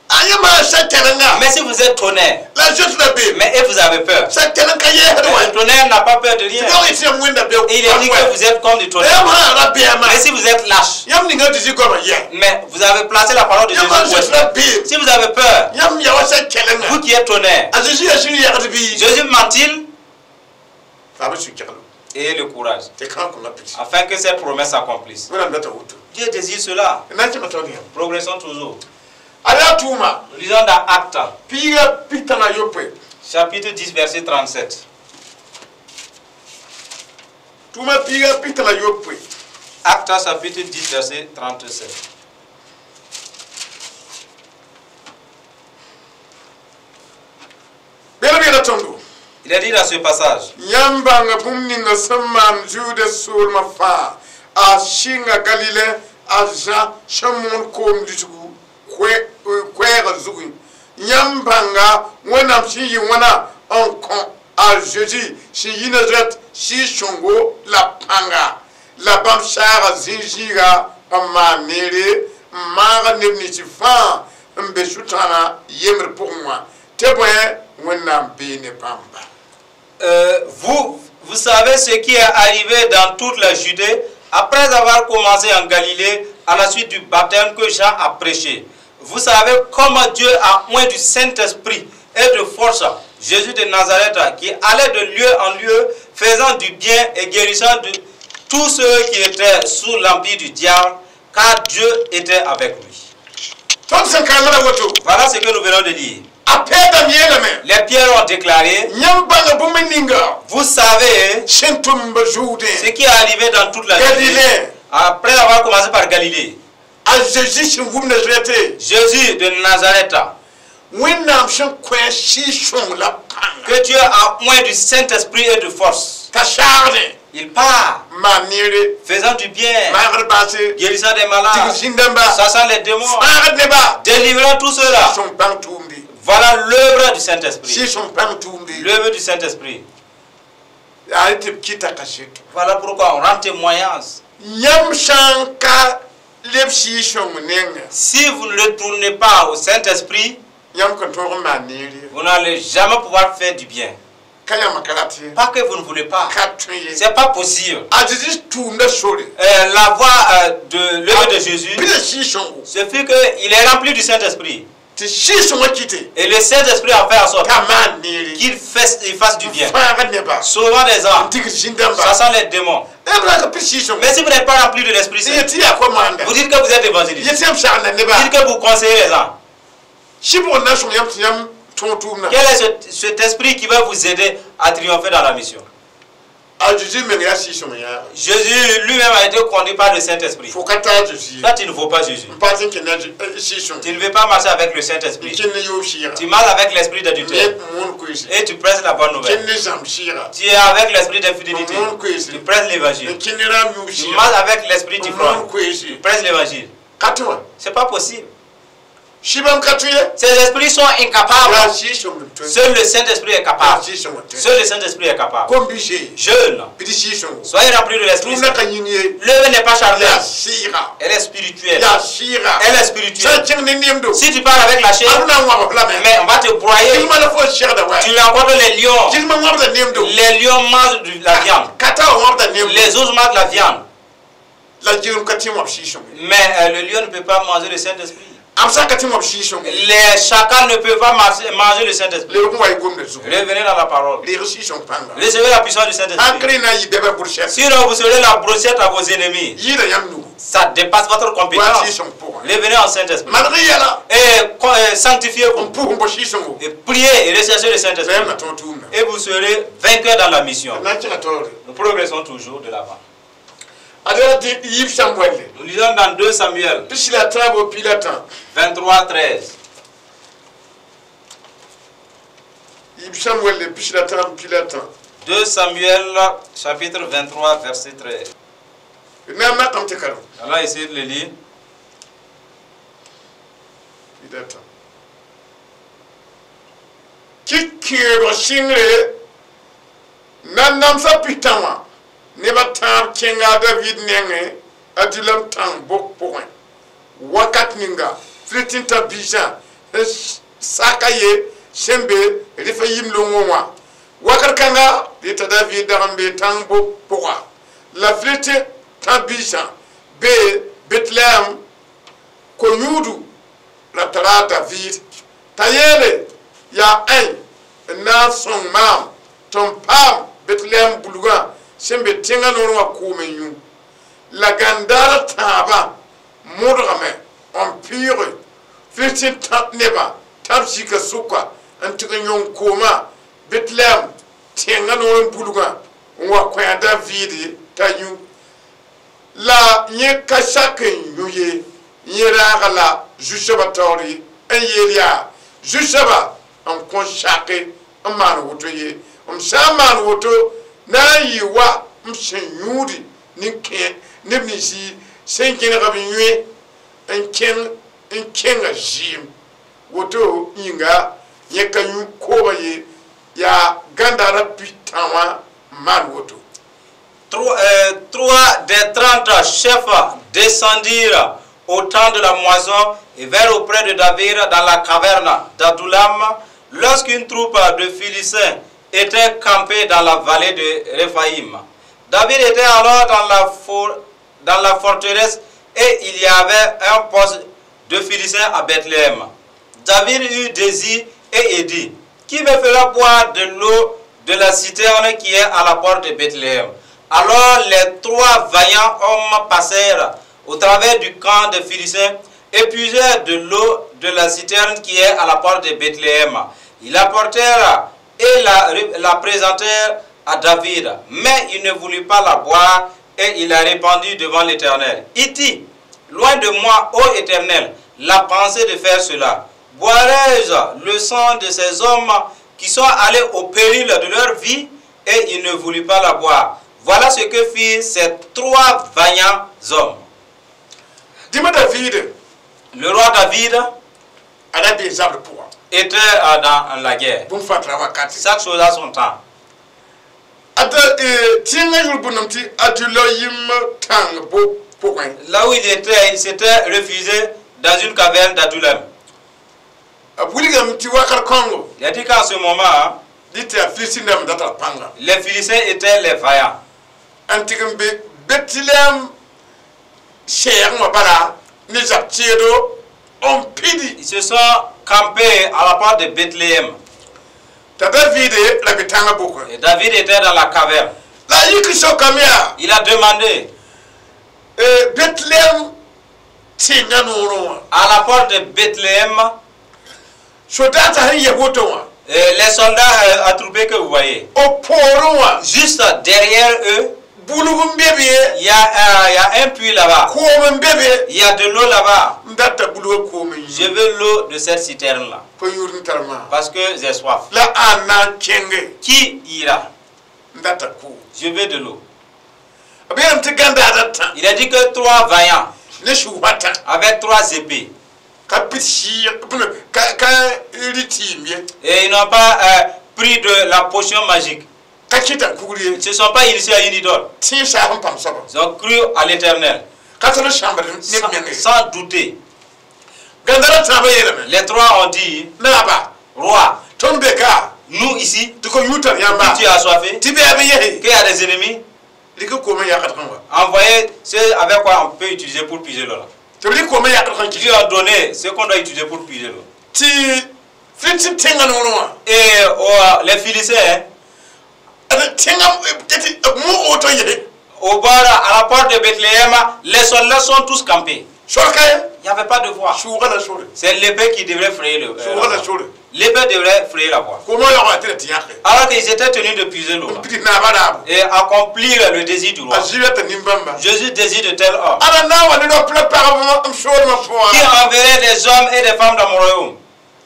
A yãmb sa-kɛlenga Mais si vous êtes tonnerre, la zoet la be mais et vous avez peur. sa-kɛleng ka yɛɛsd Le wã tonnerre n'a pas peur de rien. tɩ yã yãmb wẽnda be Il est dit que vous êtes comme du tonnerre. yãmb sã ra beama Mais si vous êtes lâche, yãmb ninga Zeezi goamã yɛ mais vous avez placé la parole de yãmb sã Jésus. zoet la beem Si vous avez peur, yãmb ya wa sa-kɛlenga vous qui êtes tonnerre, a Zeezi yaa sũ yɛgd bɩ Jésus ment-il? fa b sũ-kɛglo Ayez le courage tɩ kãa kõnga pidsi afin que cette promesse s'accomplisse. Wẽnnaam data woto Dieu désire cela. n na n kẽng taoor yãmb Progressons toujours. A yaa tʋʋma Nous lisons dans Actes, piiga pik-tãngã yopoe chapitre 10, verset 37. Tʋʋma piiga pik-tãngã yopoe Actes, chapitre 10, verset 37. Bẽd b yeela tõndo Il est dit dans ce passage, yãmb bãnga bũmb ninga sẽn maan Zuda soolmã fãa a sɩnga Galile a Zã sẽn moon koom lisgu koɛɛgã zugẽ yãmb bãnga Wẽnnaam sẽn yɩ wãna n kõ a Zeezi sẽn yi Nazarɛt sɩɩg-sõngo la pãnga la bãmb saaga zĩ-zĩiga n maan neere n maaga neb nins fãa n be sʋtãanã yembr pʋgẽ wã tɩ bõe Wẽnnaam bee ne bãmba. Vous, vous savez ce qui est arrivé dans toute la Judée après avoir commencé en Galilée à la suite du baptême que Jean a prêché. Vous savez comment Dieu a oint du Saint-Esprit et de force Jésus de Nazareth qui allait de lieu en lieu faisant du bien et guérissant de tous ceux qui étaient sous l'empire du diable, car Dieu était avec lui. Tõnd sẽn karemda woto Voilà ce que nous venons de lire. A Pɛɛdame yeelame Les pierres ont déclaré, yãmb bãnga bũmb ninga vous savez sẽn tʋm ba Zuudẽ ce qui est arrivé dans toute la Judée, Galilée. Après avoir commencé par Galilée, A Zeezi sẽn wum Nazarɛte Jésus de Nazareth, Wẽnnaam sẽn kõ a Sɩɩg-sõng la pãnga que Dieu a oint du Saint-Esprit et de force. T'a saagdẽ Il part, maan neere faisant du bien, maagd baase guérissant des tigr malades, zĩn-dãmba chassant les démons, fãagd neba délivrant tous ceux-là. Sõng bãng tʋʋmde Voilà l'œuvre du Saint-Esprit. Sɩɩg-sõng bãng tʋʋmde L'œuvre du Saint-Esprit. Yaa tɩ b kɩta kaseto Voilà pourquoi on rend témoignage. Yãmb sã n ka leb Sɩɩg-sõng nengẽ Si vous ne retournez pas au Saint-Esprit, yãmb kõn tõog n maan neer ye vous n'allez jamais pouvoir faire du bien. Ka yãmb ka rat ye Pas que vous ne voulez pas. Ka tõe ye C'est pas possible. A Zeezi tʋʋmda sore La voie de l'œuvre de Jésus, pida Sɩɩg-sõngo ce fut qu'il est rempli du Saint-Esprit. Tɩ Sɩɩg-sõngã kɩte Et le Saint-Esprit a fait en sorte t'a maan neere qu'il fasse du bien. fãagd neba Sauvant des âmes, tigr zĩn-dãmba chassant les démons. b ra ka pid Sɩɩg-sõngo Mais si vous n'êtes pas rempli de l'Esprit Saint, yet tɩ yaa ko-maanda vous dites que vous êtes évangéliste. yet tɩ yãmb sagenda neba Vous dites que vous conseillez les gens. Sɩbg n na sõng yãmb tɩ yãmb tõog tʋʋmdã Quel est cet esprit qui va vous aider à triompher dans la mission? A Zeezi meng yaa Sɩɩg-sõng yaaga Jésus lui-même a été conduit par le Saint-Esprit. Fo ka taa Zeezi ye Toi, tu ne vaux pas Jésus. N pa tɩ n kẽnda Sɩɩg-sõng Tu ne veux pas marcher avec le n Saint-Esprit. kẽnd ne yoob sɩɩga Tu marches avec l'esprit d'adultère. ne moon koeese Et tu prêches la bonne nouvelle. Kẽnd ne zãmb sɩɩga Tu es avec l'esprit d'infidélité. Moon koeese Tu prêches l'évangile. N kẽnd ne raam yoob Tu sɩɩga marches avec l'esprit n moon d'ivrogne. koeese Tu prêches l'évangile. Ka tɩ wã C'est pas possible. Sɩbam ka tõe ye Ces esprits sont incapables. Yaa Sɩɩg-sõng n tõe Seul le Saint-Esprit est yaa capable. Sɩɩg-sõng n tõe Seul le Saint-Esprit est capable. Kom-bi-see Jeune, pid Sɩɩg-sõngo soyez remplis de l'Esprit tʋʋmdã Saint. ka yĩng ye L'œuvre n'est pas charnelle. Yaa sɩɩga Elle est spirituelle. Yaa sɩɩga Elle est sã n spirituelle. kẽng ne nemdo Si tu parles avec la chair, b na n wãbs lame mais on va te broyer. Gilma la fo segda wa Tu rencontres les lions. Gilma wãbda nemdo Les lions mangent de la viande. Ka ta wa wãbda nemdo Les ours mangent la viande. La gilem ka tɩ wãb Sɩɩg-sõng Mais le lion ne peut pas manger le Saint-Esprit. Les chacals ne peuvent pas manger le Saint-Esprit. Revenez dans la parole. Recevez la puissance du Saint-Esprit. Sinon, vous serez la brochette à vos ennemis. Ça dépasse votre compétence. Revenez en Saint-Esprit. Et sanctifiez-vous. Et priez et recherchez le Saint-Esprit. Et vous serez vainqueur dans la mission. Nous progressons toujours de l'avant. Nous lisons dans 2 Samuel 23, 13. 2 Samuel chapitre 23, verset 13. Alors essayez de le lire. Neba tãab kẽnga David nengẽ Adulam tãng bok pʋgẽ wakat ninga Filistin tã biisã sẽn saka ye sẽn be Refayim longõ wã wakat kãnga dɩ t'a David dag n be tãng bok pʋga la Filistin tã biisã be Betlehem ko-yũudu la tara David t'a yeele yaa ãe n na n sõng maam tɩ n paam Betlehem bulgã sẽn be tẽngã noor wã koom n yũ la gãndaar tãabã modgame n pɩɩge Filistin nebã tã b zika sʋka n tɩg n yõng koomã Betlehem tẽngã noor n bulgã n wa kõ a David t'a yũ la yẽ ka sak n yũ ye yẽ raaga la zu-soabã taoor ye n yeel yaa zu-soabã n kõ sake n maan woto ye m sã n maan woto na n yɩ wa m sẽn yũudi neb ninsi sẽn kẽneg b yẽ n kẽnga zɩɩm woto yĩnga yẽ ka yũ koobã ye yaa gãndaarã pi-tã wã n maan woto. Trois des 30 chefs descendirent au temps de la moisson et vinrent auprès de David dans la caverne d'Adoulam lorsqu'une troupe de Philistins était campée dans la vallée de Rephaïm. David était alors dans la forteresse et il y avait un poste de Philistins à Bethléem. David eut désir et dit, qui me fera boire de l'eau de la citerne qui est à la porte de Bethléem? Alors les trois vaillants hommes passèrent au travers du camp des Philistins et puisèrent de l'eau de la citerne qui est à la porte de Bethléem. Ils l'apportèrent et la présentèrent à David. Mais il ne voulut pas la boire et il la répandit devant l'Éternel. Il dit, loin de moi, ô Éternel, la pensée de faire cela. Boirai-je le sang de ces hommes qui sont allés au péril de leur vie? Et il ne voulut pas la boire. Voilà ce que firent ces trois vaillants hommes. Dis-moi David. Le roi David était dans la guerre. Chaque chose a son temps. Là où il était, il s'était refusé dans une caverne d'Adoulam. Il a dit qu'en ce moment, les Philistins étaient les vaillants. Ils se sont campés à la porte de Bethléem. Et David était dans la caverne. Il a demandé à la porte de Bethléem, les soldats attroupés que vous voyez, juste derrière eux, il y a un puits là-bas. Il y a de l'eau là-bas. Je veux l'eau de cette citerne-là. Parce que j'ai soif. Qui ira? Je veux de l'eau. Il a dit que trois vaillants avec trois épées. Et ils n'ont pas pris de la potion magique. Ils ne se sont pas initiés à une idole. Ils ont cru à l'Éternel. Sans douter. Les trois ont dit, roi, nous ici, tu as assoiffé, qu'il y a des ennemis, envoyez ce avec quoi on peut utiliser pour puiser l'eau là. Tɩ b rɩk koomã yakd sẽn Ils lui ont donné ce qu'on doit utiliser pour puiser l'eau. Tɩ Filistin tẽngã noorẽ wã Et oh, les Philistins, tẽngã tɩ moog woto yese au bord, à la porte de Bethléem, les soldats sont tous campés. Sor ka ye. Il n'y avait pas de voie. Sʋʋgã la sore. C'est l'épée qui devrait frayer Sʋʋgã la la voie. sore. L'épée devrait frayer la voie. Koomã yaoogã tɩ ra tɩ yãke. Alors qu'ils étaient tenus de puiser l'eau N là pids naabã raabo. Et accomplir le désir du roi. A zɩ ta nin-bãmba. Jésus désire de tels hommes Ala na n wa ne rap la pagb m soolmã qui pʋgã. enverrait des hommes et des femmes dans mon royaume.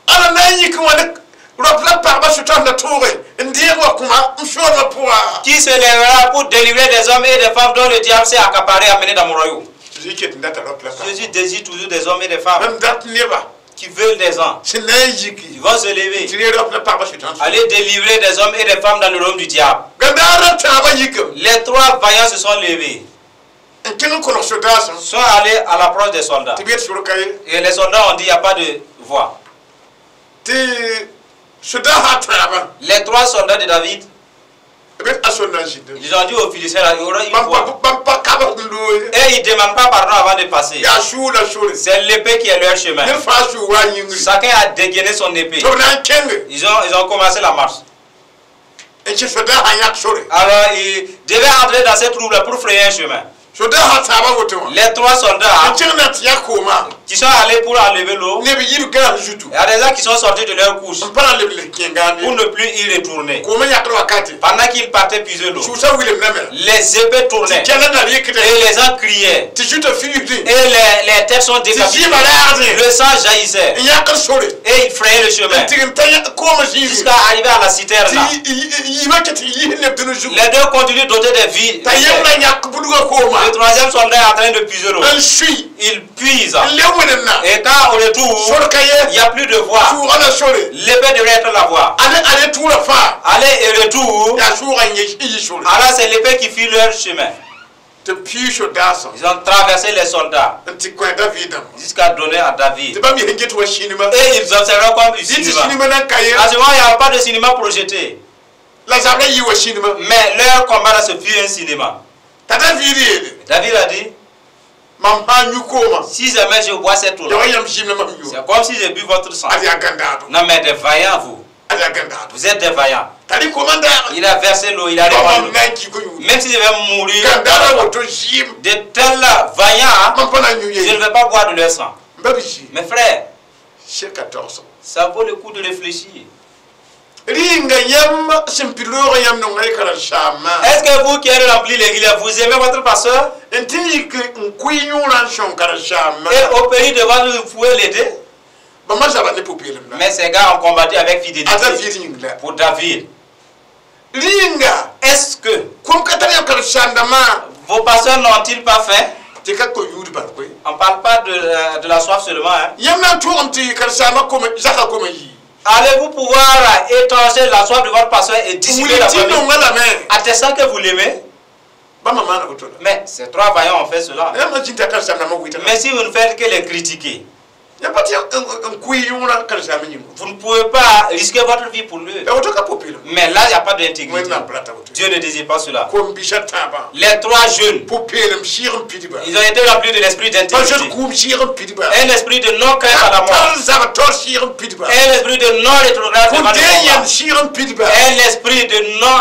Ala na n yik n wa ne rap la pagba sʋtãn la tooge n deeg wa kũma m soolmã pʋga. Qui se lèvera pour délivrer des hommes et des femmes dont le diable s'est accaparé et amené dans mon royaume. Zɩ ket n data rap la pagba. Jésus désire toujours des hommes et des femmes N dat neba qui veulent des gens. Sẽn na n Ils yiki vont se tɩ lever, re rap la pagba sʋtãn. Aller délivrer des hommes et des femmes dans le royaume du diable. Gãndaar tãabã yikame. Les trois vaillants se sont levés, N kẽng n kolg sodaasẽ. Sont allés à l'approche des soldats. Tɩ b yet sor ka ye. Et les soldats ont dit, il n'y a pas de voie. Tɩ sodaasã tãabã Les trois soldats de David, b yet a sol na n zĩndame. Ils ont dit aux Philistins, là, il y aura une Bãmb voie. pa bãmb pa kabg n loe. Et ils ne demandent pas pardon avant de passer. Yaa sʋʋg la sore. C'est l'épée qui est leur chemin. Ned fãa sʋʋg wa a yĩngri. Chacun a dégainé son épée. Tɩ b na n kẽnge Ils ont commencé la marche. N kẽ sodaasã yãk sore. Alors, ils devaient entrer dans cette troupe-là pour frayer un chemin. Sodaasã tãabã woto wã Les trois n soldats kẽng na tɩ yãk koomã qui sont allés pour enlever l'eau, neb yib gãas zutu il y a des gens qui sont sortis de leur couche n pa na n leb le kẽngaand pour ye. ne plus y retourner. Koomã yãkd wakate Pendant qu'ils partaient puiser l'eau, sʋʋsã wilem rame les épées tournaient tɩ kɛla nar yɩkdẽ et les gens criaient. Tɩ zuta fiisdẽ Et les têtes sont tɩ décapitées. zɩɩmã raagdẽ Le sang jaillissait n yãkd sore et ils frayaient le chemin n tɩg n ta koomã zĩigẽ jusqu'à arriver à la citerne là. Tɩ yiibã ket n yis neb dũni zugu. Les deux continuent d'ôter des vies. T'a yembrã yãk budgã koomã Le troisième soldat est en train de puiser l'eau. N sui Il puise. N leb wẽnem na. Et quand au retour, Sor ka il ye. n'y a plus de voie. Sʋʋgã la sore. L'épée devrait être la voie. Ale ale tʋʋra fãa. Aller et retour, Yaa sʋʋgã n yɩ sore. Alors c'est l'épée qui fit leur chemin. Tɩ pii sodaasã Ils ont traversé les soldats n tɩ kõ David dãmba. Jusqu'à donner à David. Tɩ bãmb yes n get wa sĩnima. Et ils observaient comme du Dɩ tɩ cinéma. sĩnima nan ka ye. À ce moment, il n'y avait pas de cinéma projeté. La zabrã yɩ wa sĩnima. Mais leur combat là, ce fut un cinéma. T'a David yeele. David a dit, Mam sã n yũ koomã si jamais je bois cette eau-là, ya wa yãmb zĩim la mam yũ. C'est comme si j'ai bu votre sang. Ad yaa gãndaado. Non mais des vaillants, vous. Ad yaa gãndaado. Vous êtes des vaillants. T'a rɩ koomã n daag. Il a versé l'eau, il a Mam répandu. na n kɩ ko-yũud. Même si je vais mourir, Gãndaadã woto zɩɩm. De tels vaillants, Mam pa na n yũ je ye. ne vais pas boire de leur sang. N ba bi Mes frères, seka tagsg. Ça vaut le coup de réfléchir. Rɩnga yãmb sẽn pid roogã yãmb nonga y karen-saambã. Est-ce que vous qui avez rempli l'église, vous aimez votre pasteur? N tɩ n yik n kʋɩ yõorã n sõng karen-saambã. Et au pays de votre, vous pouvez l'aider? Bãmba zaba ne pʋ-peelem la. Mais ces gars ont combattu avec fidélité A David yĩng la. Pour David. Rɩnga Est-ce que kom ka tar yãmb karen-saamdãmbã vos pasteurs n'ont-ils pas faim? Tɩ ka ko-yũud bal koe. On ne parle pas de la soif seulement, hein. Yãmb na n tʋgem tɩ karen-saambã kome zaka kome yii. Allez-vous pouvoir étancher la soif de votre pasteur et dissiper la Wilg tɩ famine? nonga lame. Attestant que vous l'aimez. Bãmba maana woto la. Mais ces trois vaillants ont fait cela. Yãmb na zĩnd t'a karen-saamdãmbã wɩtga. Mais si vous ne faites que les critiquer, Yãmb pa tɩ n kʋɩ yõorã karen-saambã yĩngo. Vous ne pouvez pas risquer votre vie pour lui. La woto ka pʋ-peelem. Mais là, il n'y a pas d'intégrité. Wẽnnaam pa rata woto. Dieu ne désire pas cela. Kom-bisã tãabã Les trois jeunes, pʋ-peelem sɩɩg n pidba. Ils ont été remplis de l'esprit Pa d'intégrité. zoet kʋʋm sɩɩg n pidba. Un esprit de non-crainte à la mort. Tar zab taoor sɩɩg n pidba. Un esprit de non-rétrograde devant Kõ le dee combat. yãnd sɩɩg n pidba. Un esprit de non,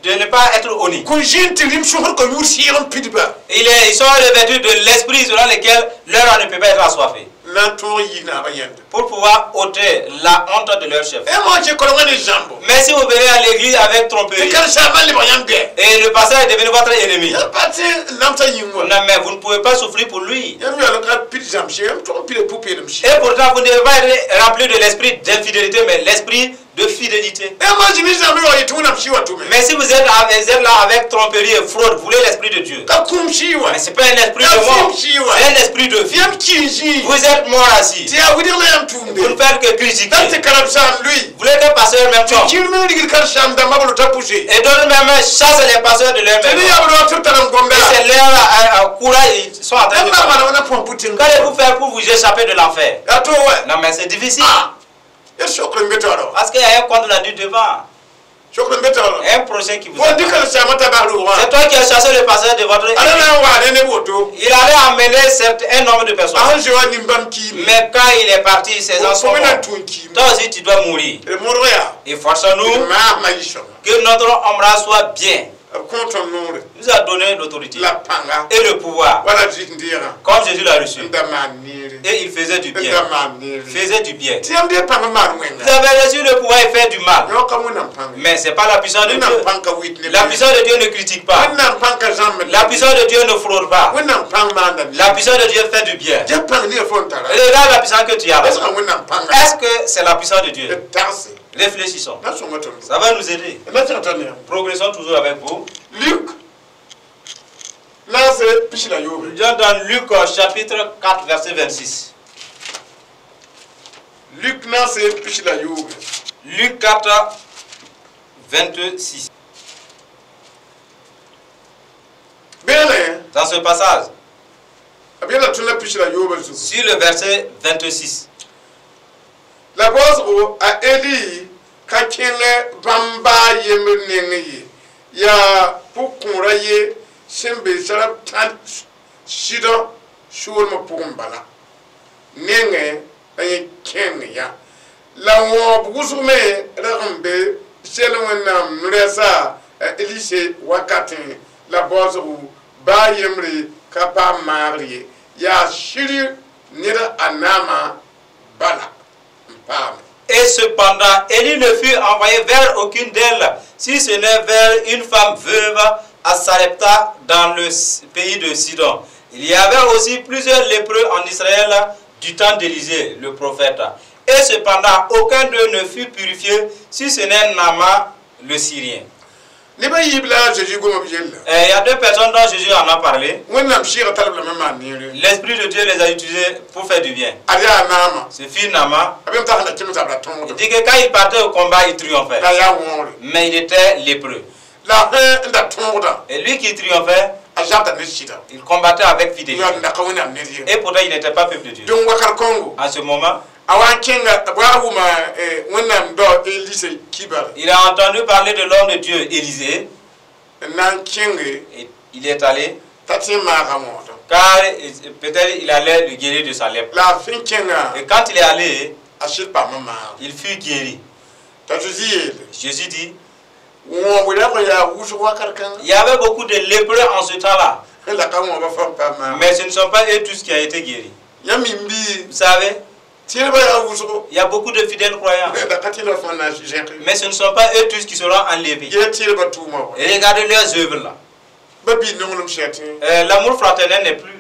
de ne pas être honni. Kõ zĩnd tɩ rĩm sõsd ka yũud sɩɩg n pidba. Ils sont revêtus de l'esprit selon lequel leur âme ne peut pas être assoiffée. Na n tõog yi naabã yẽnda. Pour pouvoir ôter la honte de leur chef. Ẽ moa kẽ kolengã ne zãmbo. Mais si vous venez à l'église avec Tɩ tromperie, karen-saambã lebg yãmb gɛ. Et le pasteur est devenu votre ennemi, Yãmb pa tɩ n namsã yĩng wã. Non mais vous ne pouvez pas souffrir pour lui. Yãmb yaool n ka pid zãmb sɩ yãmb tʋg n pida pʋ-peelem sɩ. Et pourtant, vous ne devez pas être rempli de l'esprit d'infidélité, mais l'esprit de fidélité. Ẽ moa zĩ ne zãmb yaool yetɩ Wẽnnaam sɩ wa tʋme. Mais si vous êtes là avec tromperie et fraude, vous voulez l'esprit de Dieu. Ka kũum sɩ wã. Mais ce n'est pas un esprit Ya de mort, fim si wa. c'est un esprit de vie. Yãmb kii zĩig. Vous êtes mort assis. Tɩ yaa wɩdg la yãmb Vous ne tʋʋmde. faites que critiquer. Dat tɩ karen-saam lʋɩ. Vous voulez que pasteur même Tɩ tombe. kĩr meng rigd karen-saam dãmbã b lota pʋse. Et d'autres même chassent les pasteurs de leur Tɩ ne maison. yaa b roog tɩ b tar n gomda. Et c'est leur courage, ils sont en train de Yãmb na n parler. maana wãna põs pʋ-tẽng. Qu'allez-vous faire pour vous échapper de l'enfer? Yaa to wɛ. Non mais c'est difficile. Ah! Ya sokr n be taoora wã. Parce qu'il y a un compte rendu devant. Un prochain qui vous attend. C'est toi qui as chassé le pasteur de votre église. Il allait emmener un nombre de personnes. Mais quand il est parti, ses gens sont morts. Toi aussi, tu dois mourir. Et forçons-nous que notre ombrage soit bien. Il nous a donné l'autorité et le pouvoir, comme Jésus l'a reçu. Et il faisait du bien. Faisait du bien. Vous avez reçu le pouvoir et fait du mal. Mais ce n'est pas la puissance de Dieu. La puissance de Dieu ne critique pas. La puissance de Dieu ne fraude pas. La puissance de Dieu fait du bien. Regarde la puissance que tu as. Est-ce que c'est la puissance de Dieu? Réfléchissons. Ça va nous aider. Progressons toujours avec vous. Luc. Dans Luc chapitre 4, verset 26. Luc Luc 4, 26. Dans ce passage, sur le verset 26. La base a Eli ka kẽngɛ bãmb baa yembr neng ye yaa pʋg-kõorã ye sẽn be Sarepta Sidõ soolmã pʋgẽ bala nengẽ la yẽ kẽng ya la wõob wʋsg me rag n be sel Wẽnnaam no-rɛɛsa a Elise wakatẽ la baoosgo baa yembre ka paam maagr ye yaa sɩd ned a naamã bala. Et cependant, Élie ne fut envoyé vers aucune d'elles, si ce n'est vers une femme veuve à Sarepta dans le pays de Sidon. Il y avait aussi plusieurs lépreux en Israël du temps d'Élisée, le prophète. Et cependant, aucun d'eux ne fut purifié, si ce n'est Naaman le Syrien. Il y a deux personnes dont Jésus en a parlé. L'Esprit de Dieu les a utilisés pour faire du bien. Ce fut Naaman. Il dit que quand il partait au combat, il triomphait. Mais il était lépreux. Et lui qui triomphait, il combattait avec fidélité. Et pourtant, il n'était pas peuple de Dieu. En ce moment, il a entendu parler de l'homme de Dieu, Élisée. Et il est allé, car peut-être il allait le guérir de sa lèpre. Et quand il est allé, il fut guéri. Jésus dit, il y avait beaucoup de lépreux en ce temps-là. Mais ce ne sont pas eux tous qui ont été guéris. Vous savez, il y a beaucoup de fidèles croyants. Mais ce ne sont pas eux tous qui seront enlevés. Et regardez leurs œuvres là. L'amour fraternel n'est plus.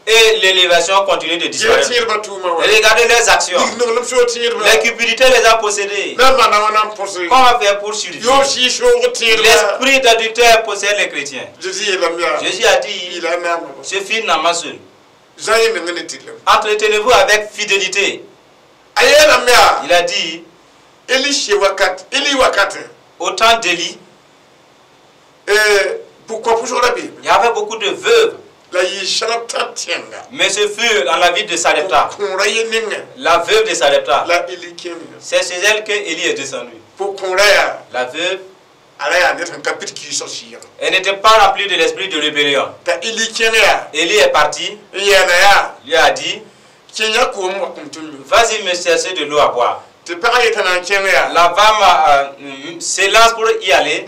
Et l'élévation continue de disparaître. Et regardez leurs actions. La cupidité les a possédés. Comment faire pour survivre? L'esprit d'adultère possède les chrétiens. Jésus a dit, ce fut Naaman seul. Entretenez-vous avec fidélité. Il a dit, au temps d'Élie, il y avait beaucoup de veuves. Mais ce fut dans la ville de Sarepta. La veuve de Sarepta. C'est chez elle que Élie est descendu. La veuve, elle n'était pas remplie de l'esprit de rébellion. Élie est parti. Il lui a dit, vas-y me chercher de l'eau à boire. La femme s'élance pour y aller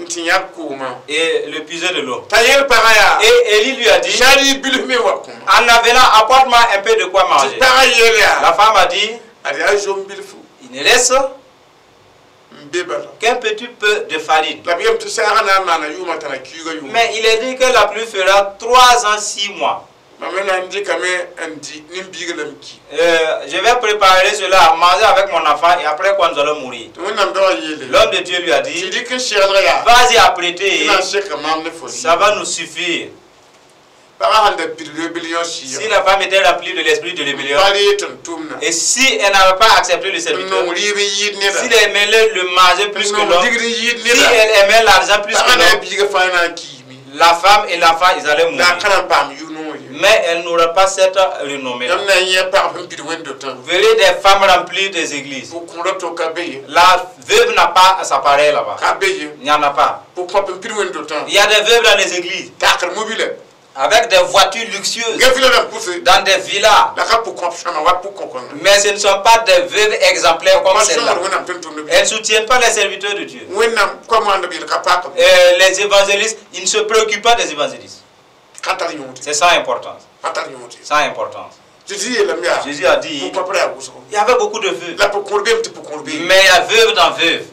et le puiser de l'eau. Et Élie lui a dit, en avenant, apporte-moi un peu de quoi manger. La femme a dit, il ne laisse qu'un petit peu de farine. Mais il est dit que la pluie fera 3 ans 6 mois. Je vais préparer cela, manger avec mon enfant et après quoi nous allons mourir. L'homme de Dieu lui a dit, vas-y apprêter, ça va nous suffire. Si la femme était remplie de l'esprit de rébellion, et si elle n'avait pas accepté le serviteur, s'il aimait le manger plus que l'homme, si elle aimait l'argent plus que l'homme, La femme et l'enfant, ils allaient La a mourir. ka na n paam yʋ-noog ye. Mais elle n'aura pas cette renommée. Yãmb na n yẽ pagb sẽn pid wẽnd-dotã. Vous verrez des femmes remplies des églises. Pʋg-kõorã to ka be ye. La veuve n'a pas sa pareille là-bas. Ka be ye. Il n'y en a pas. Pʋg-kõap n pid wẽnd-dotã. Il y a des veuves dans les églises Takr mobile. avec des voitures luxueuses, Gã vila rãmb pʋse. dans des villas. La ka pʋg-kõap sõama wa pʋg-kõkãngã. Mais ce ne sont pas des veuves exemplaires comme Pa celle-là. sõngd Wẽnnaam tʋm-tʋmdb. Elles ne soutiennent pas les serviteurs de Dieu. Wẽnnaam koa-moandb yel ka paak. Les évangélistes, ils ne se préoccupent pas des évangélistes. Ka tar yõod. C'est sans importance. Pa tar yõod. Sans importance. Zeezi yeelame yaa. Jésus a dit, Pʋg-kõap ra yaa wʋsgo. il y avait beaucoup de veuves. La pʋg-kõor beeme tɩ pʋg-kõor beeme. Mais il y a veuve dans veuve.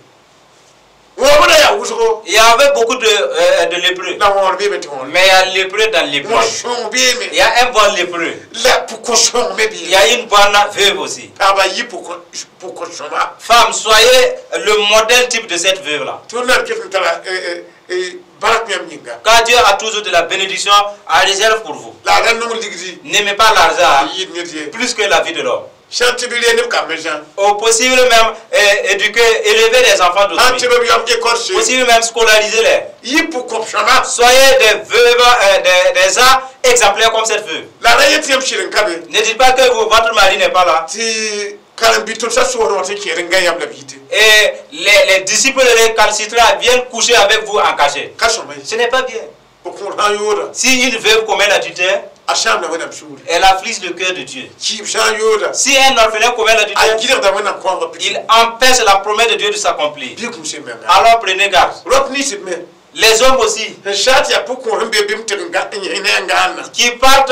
Wõobd ra yaa wʋsgo. Il y avait beaucoup de lépreux. La wõor beeme tɩ wõor. Mais il y a lépreux dans lépreux. Wõ sõng beeme. Il y a un bon lépreux. La pʋg-kõor me Il y a beeme. une bonne veuve aussi. Pagba yɩ pʋg-kõor sõma. Femme, soyez le modèle type de cette veuve-là. Tɩ wẽnnaam ket n tara bark yãmb yĩnga. Car Dieu a toujours de la bénédiction à réserve pour vous. La a ra nong ligdi N'aimez pas l'argent n yɩɩd ned ye. plus que la vie de l'homme. Sã n tɩ b ree neb kambẽ sã. Au possible même éduquer, élever les enfants Sã n d'autrui. tɩ b yam écorce. Possible même scolariser-les. Yɩ pʋg-kõp sõma. Soyez des veuves, des gens exemplaires comme cette veuve. La ra yet yãmb sɩd n ka be. Ne dites pas que votre mari n'est pas là. Tɩ karen-bi-tʋmsã soosd wã tɩ kẽed n gã yãmb la b yite. Et les disciples récalcitrants viennent coucher avec vous en cachette. Ka sõma ye. Ce n'est pas bien. Pʋg-kõor sã n yooda. Si une veuve commet l'adultère, A sãamda Wẽnnaam sũuri. elle afflige le cœur de Dieu. Kɩɩb sã n yooda. Si un orphelin commet A l'adultère, gɩdgda Wẽnnaam kõanga pid. il empêche la promesse de Dieu de s'accomplir. Bɩ kũm sem menga. Alors prenez garde. Rop nins b me. Les hommes aussi Sẽn saa tɩ yaa pʋg-kõor sẽn be bɩ m tɩg n gã n yẽ ne a gãanna. qui partent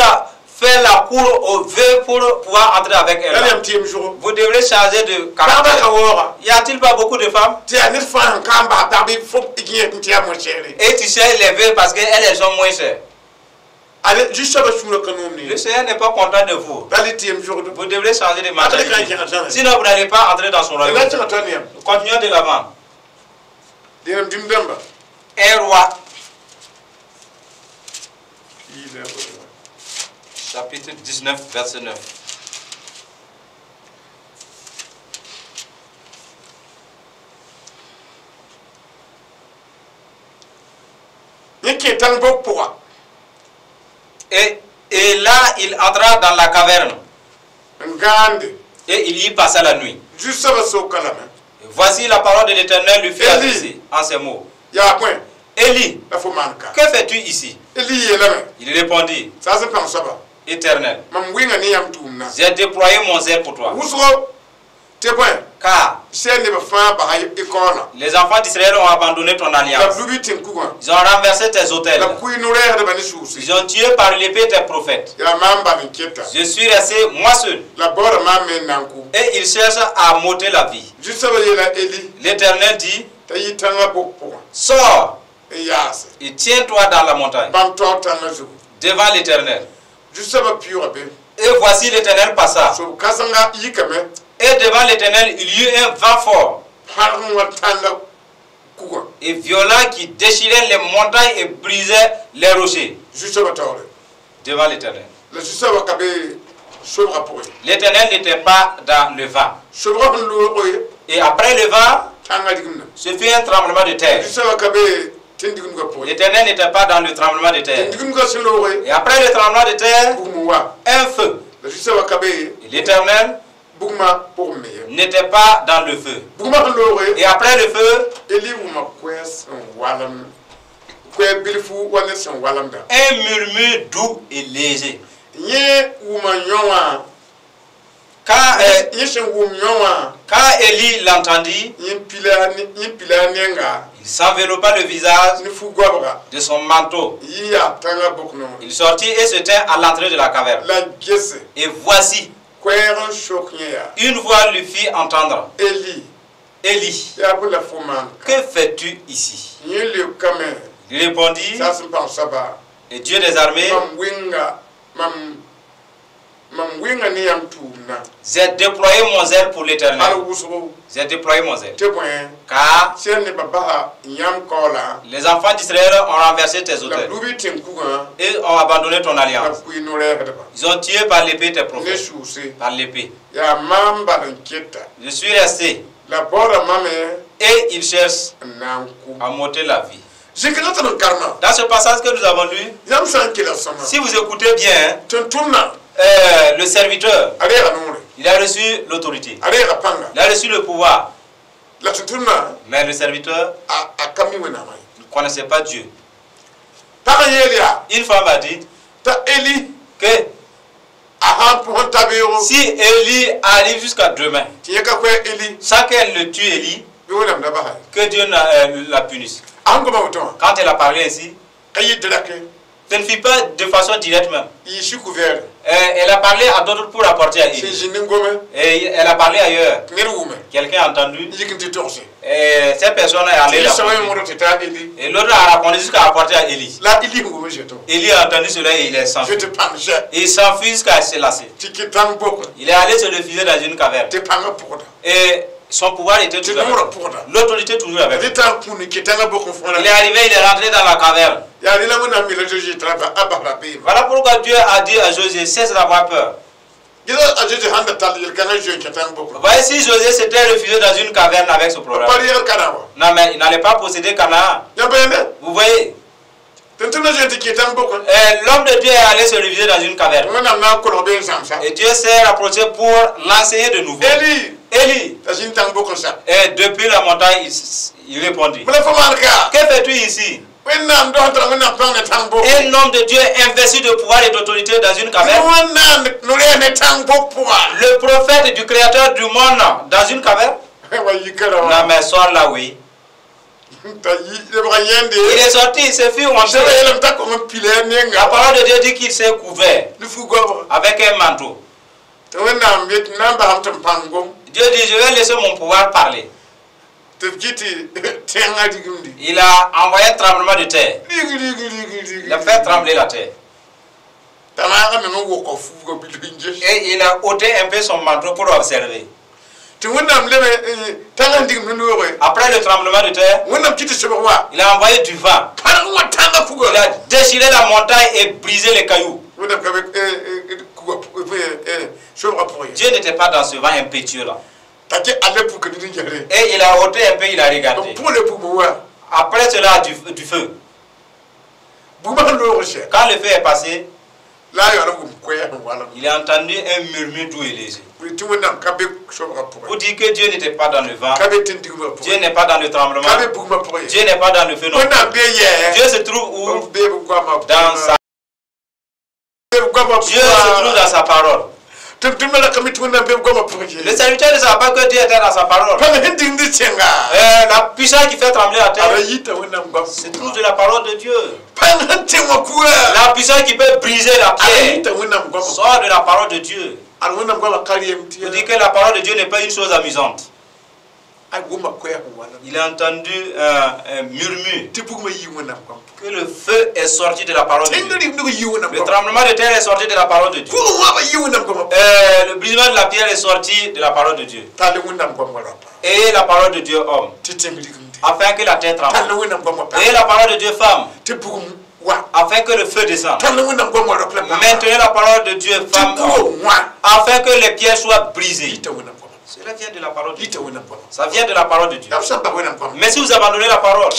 faire la cour aux veuves pour pouvoir entrer avec La elles. yãmb tɩ yem zʋgo. Vous devrez changer de Pagba ka caractère. waooga. Y a-t-il pas beaucoup de femmes? Tɩ yaa ned fãa sẽn ka n bas pag bɩ fo yẽ tɩ yaa moa-sɛɛre. Et tu sais les veuves parce qu'elles elles sont moins chères. Ale zu-soabã sũurã ka noom Le ne. Seigneur n'est pas content de vous. La le tɩ yem zʋgdo. Vous devrez changer de Ata ka mentalité. kẽgd zãnga. Sinon, vous n'allez pas entrer dans son La royaume. tẽga tõe ne yãmb. Continuons de l'avant. Dẽnem dĩm-dãmba. Un roi, chapitre 19, verset 9. Yẽ kẽ tãng bok pʋga. Et là, il entra dans la caverne N gãande. et il y passa la nuit. Zu-soabã soka lame. Et voici la parole de l'Éternel lui fut Élie. adressée en ces mots. Yaa bõe Élie, la fo maan ka. que fais-tu ici? Eli yeelame. Il répondit, Saas n pãng soaba. Éternel, Mam wɩnga ne yãmb tʋʋmdã. j'ai déployé mon zèle pour toi, Wʋsgo tɩ bõe car sɛn nebã fãa basa y kaoolã. les enfants d'Israël ont abandonné ton La b alliance. lub y tẽn-kugã. Ils ont renversé tes autels. La b kʋɩ no-rɛɛsdbã ne sʋʋse. Ils ont tué par l'épée tes prophètes. Yaa maam bal n keta. Je suis resté moi seul. La baooda maam me n na n kʋ. Et ils cherchent à m'ôter la vie. Zu-soabã yeela Eli L'Éternel dit, t'a yɩ tãngã bok pʋgã sors n yaase. et tiens-toi dans la montagne, Bãmb taoor tãngã zugu. devant l'Éternel. Zu-soabã pɩʋʋga be. Et voici l'Éternel passa. Sob-kãsengã yikame Et devant l'Éternel, il y eut un vent fort pãrg n wa tãngã kugã et violent qui déchirait les montagnes et brisait les rochers. Zu-soabã taoore. Devant l'Éternel. La zu-soabã ka be sobgã pʋgẽ. L'Éternel n'était pas dans le vent. Sobgã sẽn loog ye Et après le vent, tãngã rigimda. ce fut un tremblement de terre. Zu-soabã ka be tẽn-digimdgã pʋgẽ. L'Éternel n'était pas dans le tremblement de terre. Tẽn-digimdgã sẽn loog ye Et après le tremblement de terre, bugum n wa. un feu. La zu-soabã ka be Et l'Éternel bugmã pʋgẽ me ye. n'était pas dans le feu. Bugmã sẽn loog ye Et après le feu, Eli wʋma koɛɛg sẽn walem koɛɛg bilfu wa ned sẽn walemda. un murmure doux et léger. Yẽ wʋma yõ wã Quand, yẽ sẽn wʋm yõ wã quand Élie l'entendit, yẽ pila a nenga il s'enveloppa le visage ne fu-goabga de son manteau. yɩ yaa tãngã bok noore. Il sortit et se tint à l'entrée de la caverne. La gese Et voici, koɛɛg n sok yẽ yaa une voix lui fit entendre. Eli Élie, yaa bõe la fo maan ka. que fais-tu ici? Yẽ leokame Il répondit, saas n pãng soaba et Dieu des armées, mam wɩnga mam mam wɩnga ne yãmb tʋʋmdã. j'ai déployé mon zèle pour Al l'Éternel. wʋsgo J'ai déployé mon zèle. tɩ bõe Car sẽn nebã basa yãmb kaoolã les enfants d'Israël ont renversé tes la b autels lub y tẽn-kugã et ont abandonné ton la b alliance. kʋɩ no-rɛɛsdba Ils ont tué par l'épée tes ne prophètes. sʋʋse. Par l'épée. Yaa maam bal n keta. Je suis resté La baooda mame et ils cherchent n na n kʋ. à m'ôter la vie. Dans ce passage que nous avons lu, si vous écoutez bien, le serviteur, il a reçu l'autorité, il a reçu le pouvoir. Mais le serviteur ne connaissait pas Dieu. Une femme a dit que si Élie arrive jusqu'à demain, sans qu'elle ne tue Élie, que Dieu la punisse. Quand elle a parlé ainsi, ce ne fut pas de façon directe même. Elle a parlé à d'autres pour apporter à Élie. Et elle a parlé ailleurs. Quelqu'un a entendu. Et cette personne est allée raconter. Et l'autre a raconté jusqu'à apporter à Élie. Élie a entendu cela et il est s'enfui. Il s'enfuit jusqu'à se lasser. Il est allé se réfugier dans une caverne. Et son pouvoir était toujours avec. L'autorité toujours avec. Il est arrivé, il est rentré dans la caverne. Voilà pourquoi Dieu a dit à Josué, cesse d'avoir peur. Voyez, si Josué s'était réfugié dans une caverne avec ce problème. Non, mais il n'allait pas posséder Canaan. Vous voyez? L'homme de Dieu est allé se réfugier dans une caverne. Et Dieu s'est rapproché pour l'enseigner de nouveau. Élie. Et depuis la montagne, il répondit. Que fais-tu ici? Un homme de Dieu investi de pouvoir et d'autorité dans une caverne. Le prophète du créateur du monde dans une caverne. Non mais sors là, oui. Il est sorti, il s'est fait honteux. La parole de Dieu dit qu'il s'est couvert avec un manteau. Dieu dit, je vais laisser mon pouvoir parler. Il a envoyé un tremblement de terre. Il a fait trembler la terre. Et il a ôté un peu son manteau pour observer. Après le tremblement de terre, il a envoyé du vent. Il a déchiré la montagne et brisé les cailloux. Dieu n'était pas dans ce vent impétueux là. Et il a ôté un peu, il a regardé. Après cela, du feu. Quand le feu est passé, il a entendu un murmure doux et léger. Pour dire que Dieu n'était pas dans le vent, Dieu n'est pas dans le tremblement, Dieu n'est pas dans le feu non. Dieu se trouve où? Dans sa... Dieu se trouve dans sa parole. Le serviteur ne savait pas que Dieu était dans sa parole. La puissance qui fait trembler la terre se trouve de la parole de Dieu. La puissance qui peut briser la pierre sort de la parole de Dieu. Pour dire que la parole de Dieu n'est pas une chose amusante. Il a entendu un murmure que le feu est sorti de la parole de Dieu. Le tremblement de terre est sorti de la parole de Dieu. Le brisement de la pierre est sorti de la parole de Dieu. Et la parole de Dieu homme, afin que la terre tremble. Et la parole de Dieu femme, afin que le feu descende. Maintenez la parole de Dieu femme, homme, afin que les pierres soient brisées. Cela vient de la parole de Dieu. Ça vient de la parole de Dieu. Mais si vous abandonnez la parole,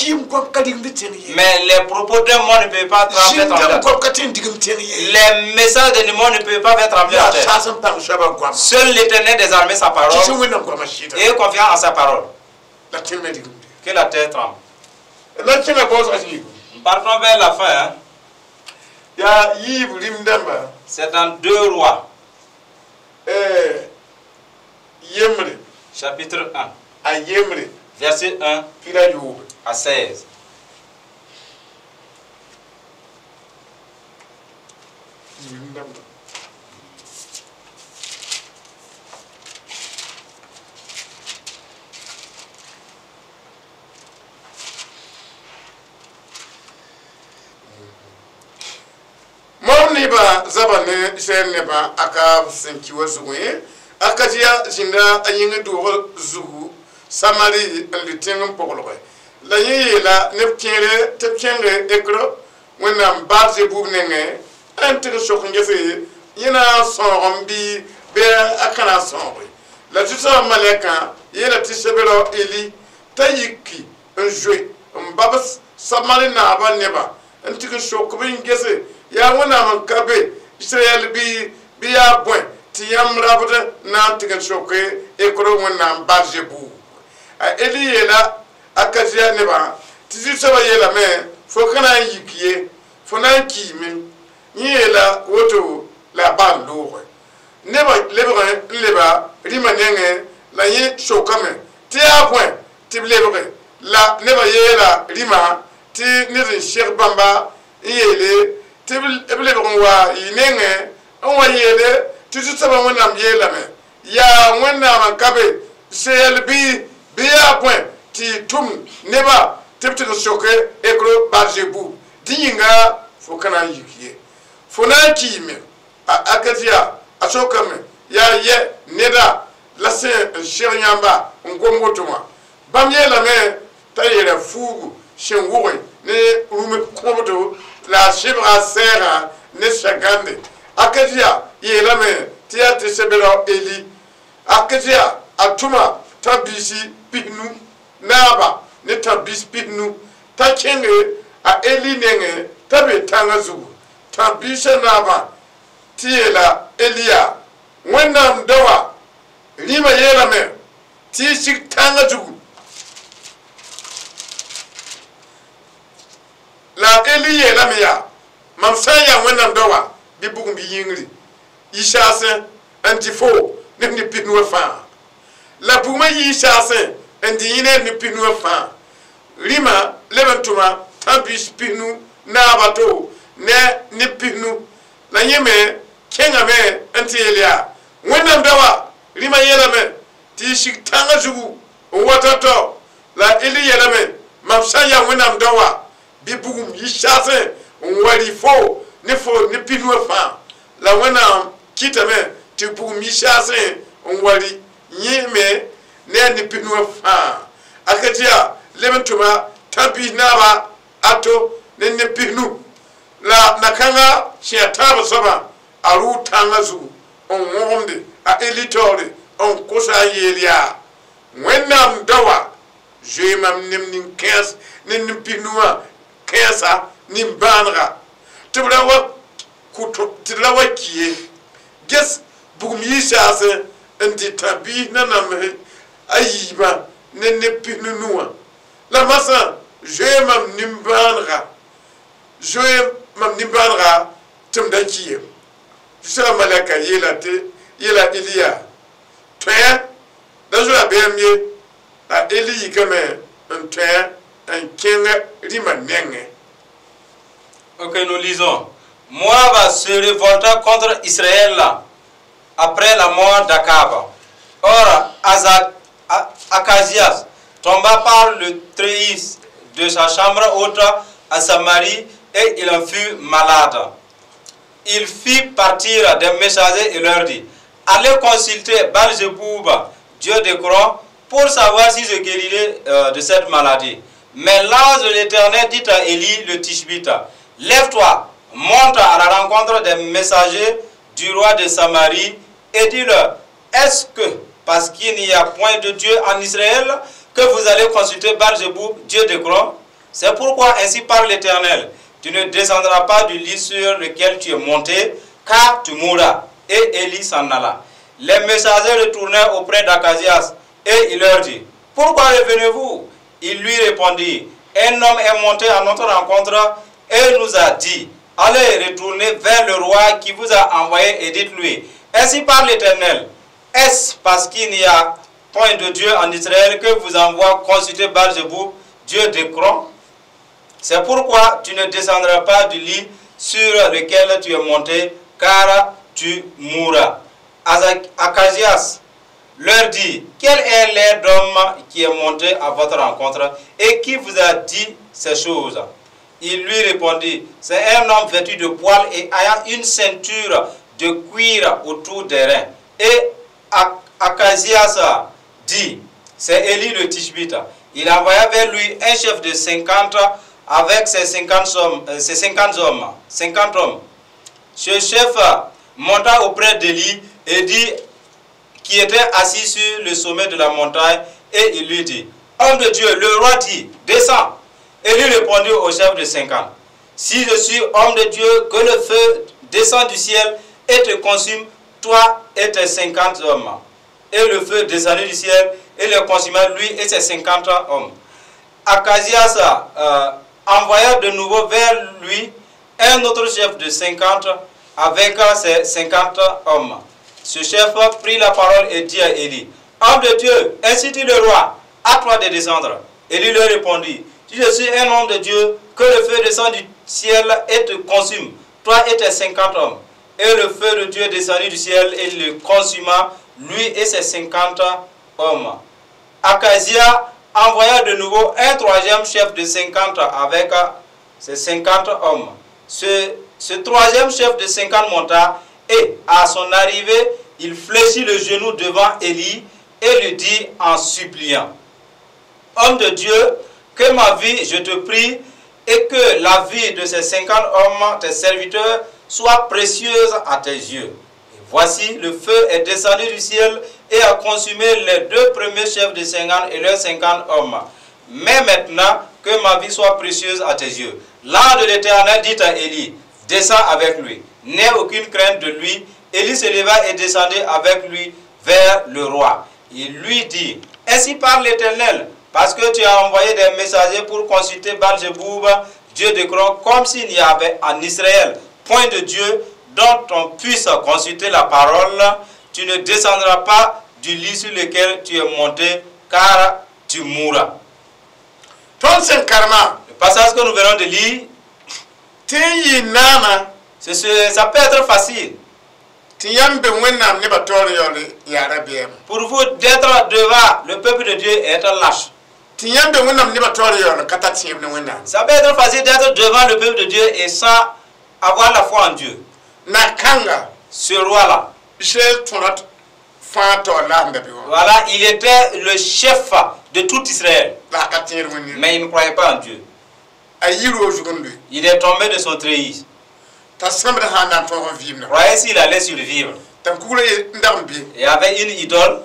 mais les propos d'un monde ne peuvent pas faire trembler la terre. Les messages d'un monde ne peuvent pas faire trembler la terre. Seul l'Éternel des armées sa parole et confiance en sa parole. Que la terre tremble. Nous partons vers la fin. Hein? C'est dans 2 Rois. Chapitre 1, verset 1 à 16. Akatia zinda ayinga dugo zugu samari liteng pogloe la yi la nepkere tepkere ekro wenam barze bubnenge antre sokunje yina sorombi be akana sorbe la tusa maleka yela tisebero eli tayiki un jeu mbabas Samari naaba neba n tɩg n sok b n gese yaa Wẽnnaam n ka be Israɛl bɩ yaa bõe tɩ yãmb rabd na n tɩg n soke Ekro Wẽnnaam Balzebub. A Eli yeela Akazia nebã tɩ Zu-soabã yeelame fo ka na n yik ye, fo na n kiime. Yẽ yeela woto la a bal looge. Nebã lebg n leba rĩmã nengẽ la yẽ sokame tɩ yaa bõe tɩ b lebge la nebã yeela rĩmã tɩ ned n seg bãmba n yeele tɩ b lebg n wa yɩ nengẽ n wa yeele tɩ Zu-soabã Wẽnnaam yeelame yaa Wẽnnaam n ka be Israɛl bɩ yaa bõe tɩ y tʋm nebã tɩ b tɩg n soke Ekro Balzebub dẽ yĩnga fo ka na n yik ye, fo na n kiime. A Akazia a sokame yaa yɛ neda la sẽn n seg yãmba n gom woto wã. Bãmb yeelame t'a yeela fuugu sẽn wʋge ne rũm kõbdo la a sɩbga a sɛɛgã ne sã-gãnde. Akazia yeelame tɩ yaa tɩ sebera Eli. Akazia a tʋma tã-biisi pisnu naaba ne tã-biis pisnu t'a kẽnge a Eli nengẽ t'a be tãngã zugu. Tã-biisã naabã tɩ yeela Eliya Wẽnnaam daoa rĩmã yeelame tɩ y sig tãngã zugu. La Eli yeelame yaa mam sã n yaa Wẽnnaam daoa bɩ bugum bɩ yĩngri yi saasẽ n dɩ fo ne f ne pisnu wã fãa. La bugmã yii saasẽ n dɩ yẽ ne pisnu wã fãa. Rĩmã leb n tʋma tã-biis pisnu naaba to ne ne pisnu la yẽ me kẽngame n tɩ yeel yaa Wẽnnaam daoa rĩmã yeelame tɩ y sig tãngã zugu n wa tao-tao. La Eli yeelame mam sã n yaa Wẽnnaam daoa bɩ bugum yi saasẽ n wa rɩ fo ne fo ne pisnu wã fãa. La Wẽnnaam kɩtame tɩ bugum yi saasẽ n wa rɩ yẽ me ne a ne pisnu wã fãa. Akazia leb n tʋma tã-biis naaba ato ne ne pisnu la na-kãngã sẽn yaa tãab soabã a rʋʋ tãngã zugu n wõgemde a Eli taoore n kosa n yeel yaa Wẽnnaam daoa zoe mam nem nin-kãens ne nin-pisnu wã kãensa nin-bãanega tɩ b ra wa ki ye. Ges bugum yɩ saasẽ n dɩ tã-biis nanamse a yiibã ne ne pisnu nu wã. La masã zoe mam nin-bãanega, zoe mam nin-bãanega tɩ m da ki ye. Zu-soabã malɛka yeela tɩ yeela Eliya tõe da zoa bɛɛm ye. A Eli yikame n tõe n kẽng rĩmã nengẽ. Ok, nous lisons. Moab se révolta contre Israël après la mort d'Akab. Or, Achazias tomba par le treillis de sa chambre haute à Samarie et il en fut malade. Il fit partir des messagers et leur dit: allez consulter Baal-Zébub, dieu d'Ékron, pour savoir si je guérirai de cette maladie. Mais l'ange de l'Éternel dit à Élie le Tishbite: lève-toi, monte à la rencontre des messagers du roi de Samarie et dis-leur: est-ce que, parce qu'il n'y a point de Dieu en Israël, que vous allez consulter Baal-Zébub, dieu d'Ékron? C'est pourquoi ainsi parle l'Éternel: tu ne descendras pas du lit sur lequel tu es monté, car tu mourras. Et Élie s'en alla. Les messagers retournèrent auprès d'Achazias et il leur dit: pourquoi revenez-vous? Il lui répondit: un homme est monté à notre rencontre et nous a dit: allez retourner vers le roi qui vous a envoyé et dites-lui: ainsi parle l'Éternel, est-ce parce qu'il n'y a point de Dieu en Israël que vous envoie consulter Baal-Zébub, dieu d'Ékron? C'est pourquoi tu ne descendras pas du lit sur lequel tu es monté, car tu mourras. Achazias leur dit: quel est l'air d'homme qui est monté à votre rencontre et qui vous a dit ces choses? Il lui répondit: c'est un homme vêtu de poils et ayant une ceinture de cuir autour des reins. Et Achazias dit: c'est Élie le Tishbite. Il envoya vers lui un chef de 50 avec ses 50 hommes, 50 hommes. Ce chef monta auprès d'Élie et dit, qui était assis sur le sommet de la montagne, et il lui dit: homme de Dieu, le roi dit, descends. Élie répondit au chef de 50, si je suis homme de Dieu, que le feu descende du ciel et te consume, toi et tes 50 hommes. Et le feu descendit du ciel et le consuma, lui et ses 50 hommes. Achazias envoya de nouveau vers lui un autre chef de 50 avec ses 50 hommes. Ce chef prit la parole et dit à Élie, homme de Dieu, ainsi dit le roi, à toi de descendre. Élie lui répondit, si je suis un homme de Dieu, que le feu descende du ciel et te consume, toi et tes 50 hommes. Et le feu de Dieu descendit du ciel et le consuma, lui et ses 50 hommes. Achazia envoya de nouveau un troisième chef de 50 avec ses 50 hommes. Ce troisième chef de 50 monta et à son arrivée, il fléchit le genou devant Élie et lui dit en suppliant, homme de Dieu, que ma vie, je te prie, et que la vie de ces 50 hommes, tes serviteurs, soit précieuse à tes yeux. Et voici, le feu est descendu du ciel et a consumé les deux premiers chefs de 50 et leurs 50 hommes. Mais maintenant, que ma vie soit précieuse à tes yeux. L'ange de l'Éternel dit à Élie, descends avec lui, n'aie aucune crainte de lui. Élie se leva et descendit avec lui vers le roi. Il lui dit, ainsi parle l'Éternel, parce que tu as envoyé des messagers pour consulter Baal-Zéboub, Dieu d'Ékron, comme s'il n'y avait en Israël point de Dieu dont on puisse consulter la parole. Tu ne descendras pas du lit sur lequel tu es monté, car tu mourras. Le passage que nous venons de lire, ça peut être facile pour vous d'être devant le peuple de Dieu et être lâche. Ça peut être facile d'être devant le peuple de Dieu et sans avoir la foi en Dieu. Ce roi-là, voilà, il était le chef de tout Israël. Mais il ne croyait pas en Dieu. Il est tombé de son treillis. Croyez s'il allait survivre. Il y avait une idole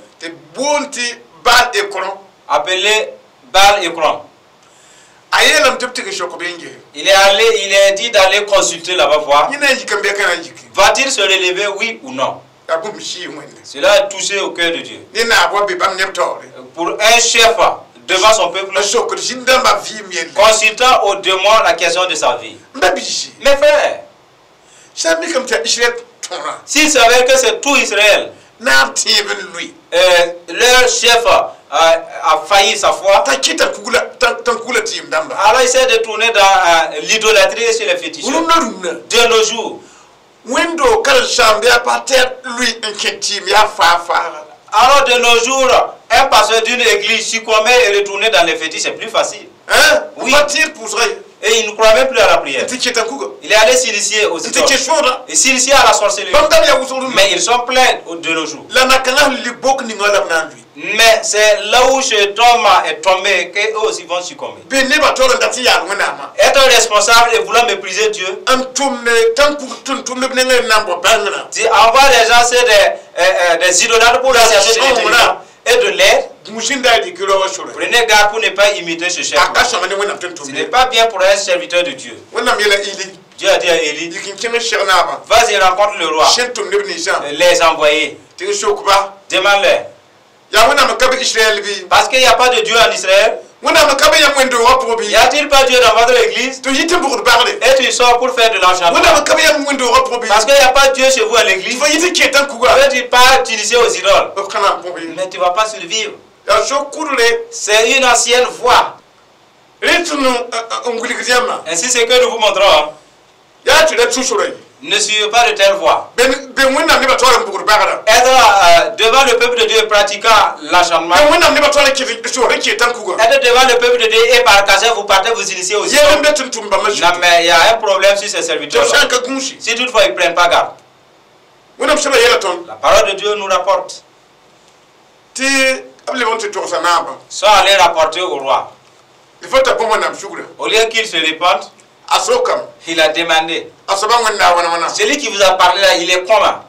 appelée Baal Ékron. Il est allé, il est dit d'aller consulter là-bas voir. Va-t-il se relever, oui ou non? Cela a touché au cœur de Dieu. Pour un chef devant son peuple, consultant au démon la question de sa vie. Mes frères, s'ils savaient que c'est tout Israël, leur chef a failli sa foi, alors il s'est détourné dans l'idolâtrie chez les féticheurs. De nos jours, alors de nos jours, un pasteur d'une église succombait et retourner dans les fétiches, c'est plus facile. Hein? Oui. Et il ne croit même plus à la prière. Il est allé s'initier aux idoles. Et s'initier à la sorcellerie. Mais ils sont pleins de nos jours. Mais c'est là où cet homme est tombé qu'eux aussi vont succomber. Être responsable et vouloir mépriser Dieu. Tu envoies les gens, c'est des idolâtres pour leur chercher de l'intelligence et de l'aide. Prenez garde pour ne pas imiter ce chef. Ce n'est pas bien pour un serviteur de Dieu. Dieu a dit à Élie, vas-y rencontre le roi, les envoyés, demande-leur. Parce qu'il n'y a pas de Dieu en Israël. Y a-t-il pas Dieu dans votre église? Et tu sors pour faire de l'enchantement. Parce qu'il n'y a pas Dieu chez vous à l'église. Et tu pars t'initier aux idoles. Mais tu ne vas pas survivre. C'est une ancienne voie. Ainsi, c'est que nous vous montrons. Ne suivez pas de telle voie. Être devant le peuple de Dieu pratiquant l'enchantement. Être devant le peuple de Dieu et par cachet, vous partez vous initier aussi. Non, mais il y a un problème sur ces serviteurs. Si toutefois ils ne prennent pas garde. La parole de Dieu nous rapporte. Sans aller rapporter au roi. Au lieu qu'il se répande, il a demandé. Celui qui vous a parlé là, il est comment?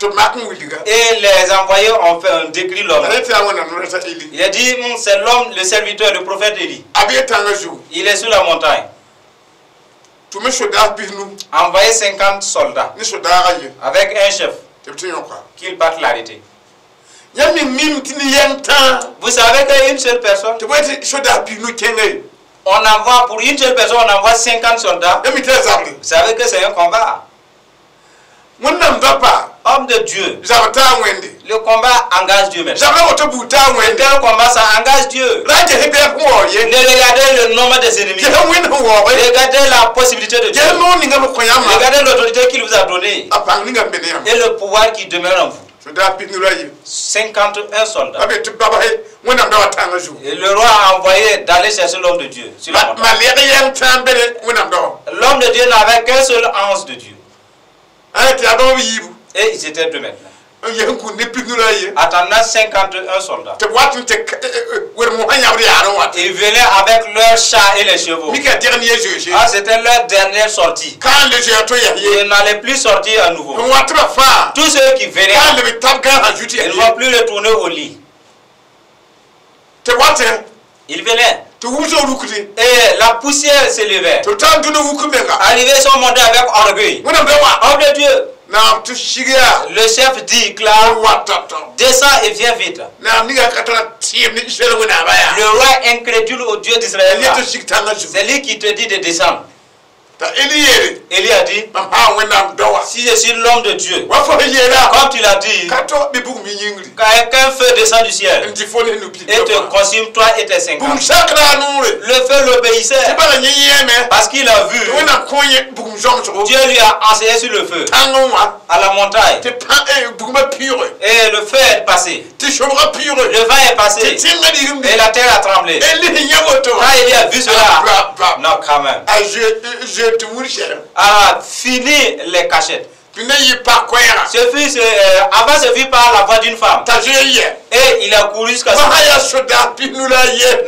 Et les envoyés ont fait un décrit l'homme. Il a dit, c'est l'homme, le serviteur, le prophète Élie. Il est sur la montagne. Envoyez 50 soldats avec un chef qu'il parte l'arrêter. Vous savez qu'une seule personne, on envoie pour une seule personne, on envoie 50 soldats. Vous savez que c'est un combat. Homme de Dieu, le combat engage Dieu maintenant. Tel combat, ça engage Dieu. Ne regardez le nombre des ennemis. Regardez la possibilité de Dieu. Regardez l'autorité qu'il vous a donnée. Et le pouvoir qui demeure en vous. 51 soldats. Et le roi a envoyé d'aller chercher l'homme de Dieu. L'homme de Dieu n'avait qu'un seul ange de Dieu. Et ils étaient deux maintenant. Attendant 51 soldats. Ils venaient avec leurs chats et les chevaux. Ah, c'était leur dernière sortie. Ils n'allaient plus sortir à nouveau. Tous ceux qui venaient, ils ne vont plus retourner au lit. Ils venaient. Et la poussière s'élevait. Arrivés, ils sont montés avec orgueil. Homme de Dieu. Le chef dit, clair, descends et viens vite. Le roi incrédule au Dieu d'Israël, c'est lui qui te dit de descendre. Élie a dit, si je suis l'homme de Dieu, comme tu l'as dit, qu'un feu descend du ciel et te consume toi et tes 50. Le feu l'obéissait parce qu'il a vu. Dieu lui a enseigné sur le feu, à la montagne. Et le feu est passé. Le vent est passé. Et la terre a tremblé. Quand Élie a vu cela, non, quand même. Ah, fini les cachettes. Ce fut, avant, ce fut par la voix d'une femme. Et il a couru jusqu'à ce.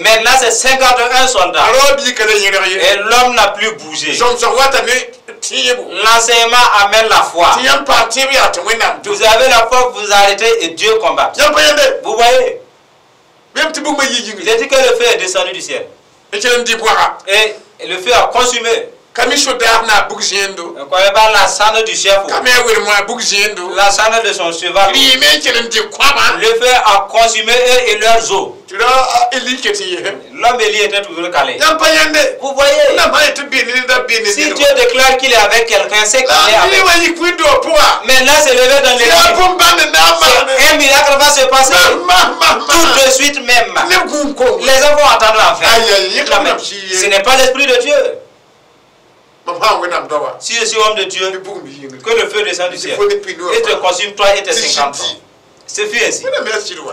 Maintenant, c'est 51 soldats. Et l'homme n'a plus bougé. L'enseignement amène la foi. Vous avez la foi, vous arrêtez et Dieu combat. Vous voyez? Il a dit que le feu est descendu du ciel. Et le feu a consumé. On ne connaît pas la cendre du chef, la cendre de son cheval. Le feu a consumé eux et leurs os. L'homme Élie était toujours calé. Vous voyez, si Dieu déclare qu'il est avec quelqu'un, c'est qu'il est avec. Maintenant, c'est levé dans l'église. Un miracle va se passer tout de suite même. Les gens vont attendre la fin. Ce n'est pas l'esprit de Dieu. Si je suis homme de Dieu, que le feu descende du ciel et te consume toi et tes 50 ans. Ce fut ainsi.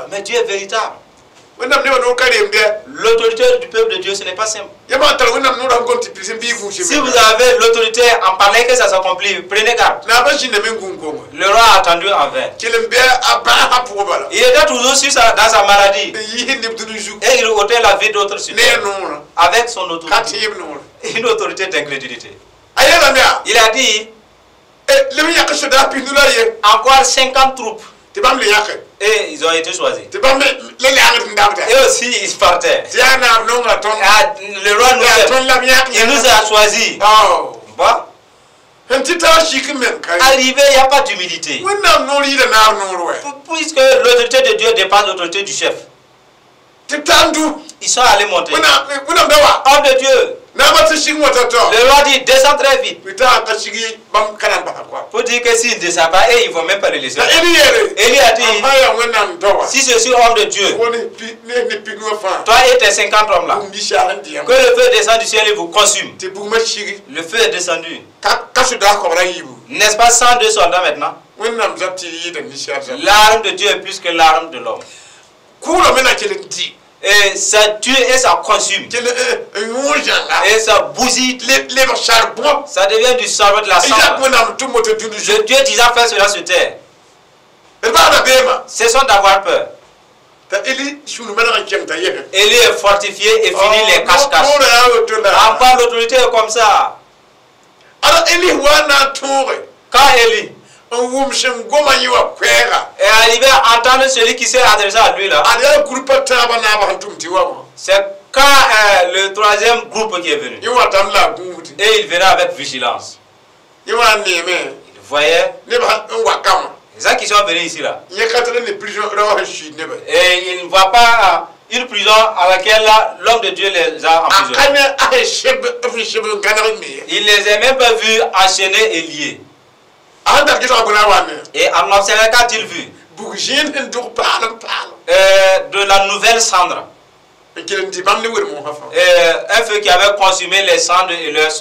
Mais Dieu est véritable. L'autorité du peuple de Dieu, ce n'est pas simple. Si vous avez l'autorité en parlant que ça s'accomplit, prenez garde. Le roi a attendu en vain. Il était toujours sur dans sa maladie. Et il ôtait la vie d'autres sur avec son autorité. Une autorité d'incrédulité. Il a dit encore 50 troupes. Et ils ont été choisis. Et aussi, ils partaient. Ah, le roi nous aime. Il nous a choisis. Bon. Arrivé, il n'y a pas d'humilité. Puisque l'autorité de Dieu dépend de l'autorité du chef. Ils sont allés monter. Homme de Dieu. Le roi dit, descends très vite. Pour dire que s'il ne descend pas, et ils ne vont même pas le laisser. Élie a dit, si je suis homme de Dieu, toi et tes 50 hommes là, que le feu descende du ciel et vous consume. Le feu est descendu. N'est-ce pas 102 soldats maintenant? L'arme de Dieu est plus que l'arme de l'homme. Et ça tue et ça consume. Et ça bousille. Ça devient du charbon, de la cendre. Le Dieu disant faire cela sur terre. Cessons d'avoir peur. Élie est fortifié et finit les cache-cache. Encore l'autorité est comme ça. Quand Élie est arrivé à entendre celui qui s'est adressé à lui là, c'est Quand le troisième groupe qui est venu, et il venait avec vigilance. Il voyait les gens qui sont venus ici là. Et il ne voit pas une prison à laquelle l'homme de Dieu les a emprisonnés. Il ne les a même pas vus enchaînés et liés. Et en observant, qu'a-t-il vu? De la nouvelle cendre. Un feu qui avait consumé les cendres et leurs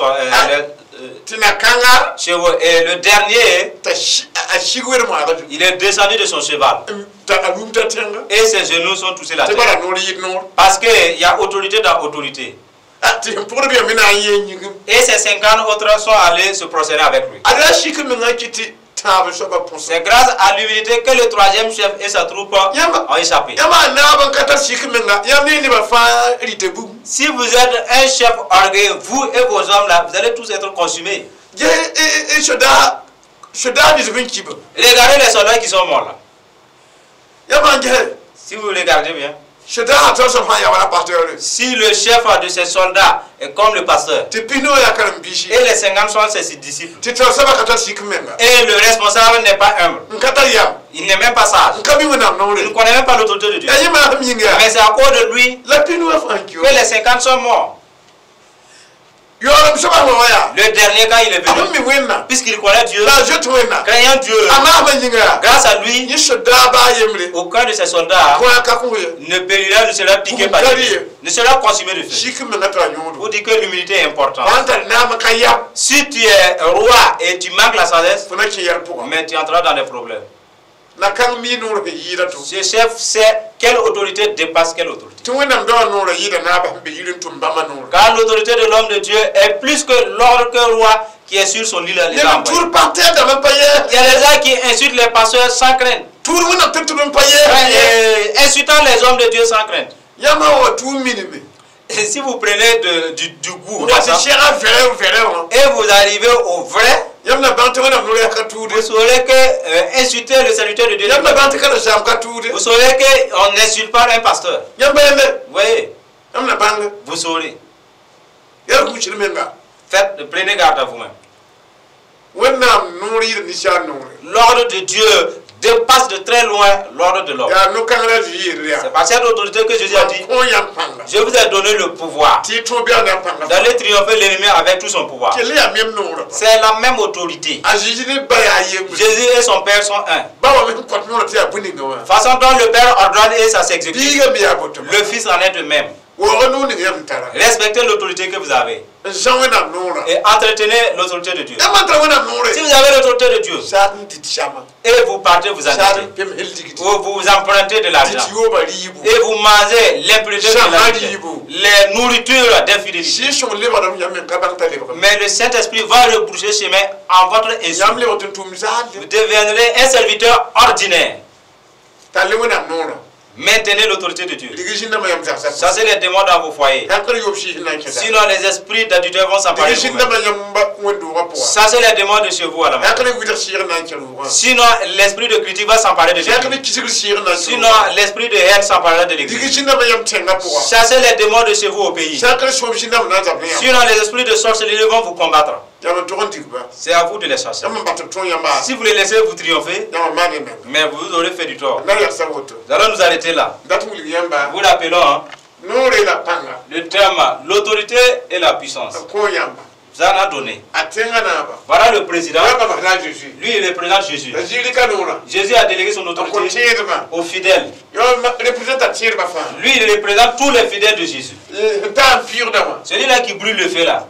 chevaux. Et le dernier, il est descendu de son cheval. Et ses genoux sont touchés la terre. Parce qu'il y a autorité dans autorité. Et ces 50 autres sont allés se procéder avec lui. C'est grâce à l'humilité que le troisième chef et sa troupe ont échappé. Si vous êtes un chef orgueilleux, vous et vos hommes là, vous allez tous être consumés. Regardez les soldats qui sont morts là. Si vous regardez bien. Si le chef de ces soldats est comme le pasteur, et les 50 sont ses disciples, et le responsable n'est pas humble, il n'est même pas sage, il ne connaît même pas l'autorité de Dieu, mais c'est à cause de lui que les 50 sont morts. Le dernier, quand il est venu, puisqu'il connaît Dieu, craignant Dieu, grâce à lui, aucun de ses soldats ne périra, ne sera piqué par lui, ne sera consumé de feu. Vous dites que l'humilité est importante. Si tu es roi et tu manques la sagesse, mais tu entreras dans des problèmes. Ce chef sait quelle autorité dépasse quelle autorité. Car l'autorité de l'homme de Dieu est plus que l'ordre que roi qui est sur son île. Il y a des gens qui insultent les pasteurs sans crainte. Et insultant les hommes de Dieu sans crainte. Et si vous prenez du goût et vous arrivez au vrai, vous saurez que insulter le serviteur de Dieu, vous saurez qu'on n'insulte pas un pasteur. Vous voyez, vous saurez. Faites, prenez garde à vous-même. L'ordre de Dieu dépasse de très loin l'ordre de l'homme. C'est par cette autorité que Jésus a dit, je vous ai donné le pouvoir d'aller triompher l'ennemi avec tout son pouvoir. C'est la même autorité. Jésus et son Père sont un. Façon dont le Père ordonne et ça s'exécute, le Fils en est de même. Respectez l'autorité que vous avez et entretenez l'autorité de Dieu. Si vous avez l'autorité de Dieu et vous partez vous endetter, ou vous empruntez de l'argent et vous mangez l'impureté de l'argent, les nourritures d'infidélité, mais le Saint-Esprit va rebrousser chemin en votre insu. Vous deviendrez un serviteur ordinaire. Maintenez l'autorité de Dieu. Chassez les démons dans vos foyers. Sinon, les esprits d'adultère vont s'emparer de vous. Chassez les démons de chez vous à la maison. Sinon, l'esprit de critique va s'emparer de l'église. Sinon, l'esprit de haine s'emparera de l'église. Chassez les démons de chez vous au pays. Sinon, les esprits de sorcellerie vont vous combattre. C'est à vous de les chasser. Si vous les laissez vous triompher, mais vous aurez fait du tort. Nous allons nous arrêter là. Vous l'appelons, hein, le terme l'autorité et la puissance. Vous en a donné. Voilà le président. Lui, il représente Jésus. Jésus a délégué son autorité aux fidèles. Lui, il représente tous les fidèles de Jésus. Celui-là qui brûle le feu là.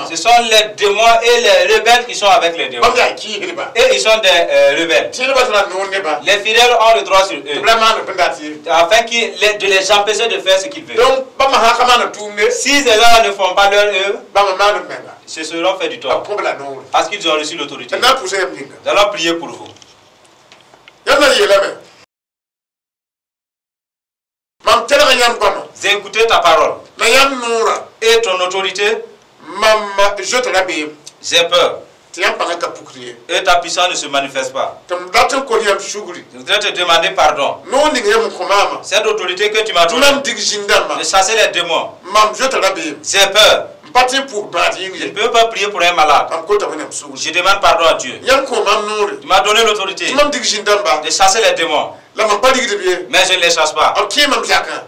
Ce sont les démons et les rebelles qui sont avec les démons. Et ils sont des rebelles. Les fidèles ont le droit sur eux. Afin de les empêcher de faire ce qu'ils veulent. Si ces gens ne font pas leur œuvre, se seront fait du tort. Parce qu'ils ont reçu l'autorité. Nous allons prier pour vous. J'ai écouté ta parole et ton autorité. J'ai peur. Et ta puissance ne se manifeste pas. Je voudrais te demander pardon. Cette autorité que tu m'as donnée de chasser les démons, j'ai peur. Je ne peux pas prier pour un malade. Je demande pardon à Dieu. Tu m'as donné l'autorité de chasser les démons. Mais je ne les chasse pas.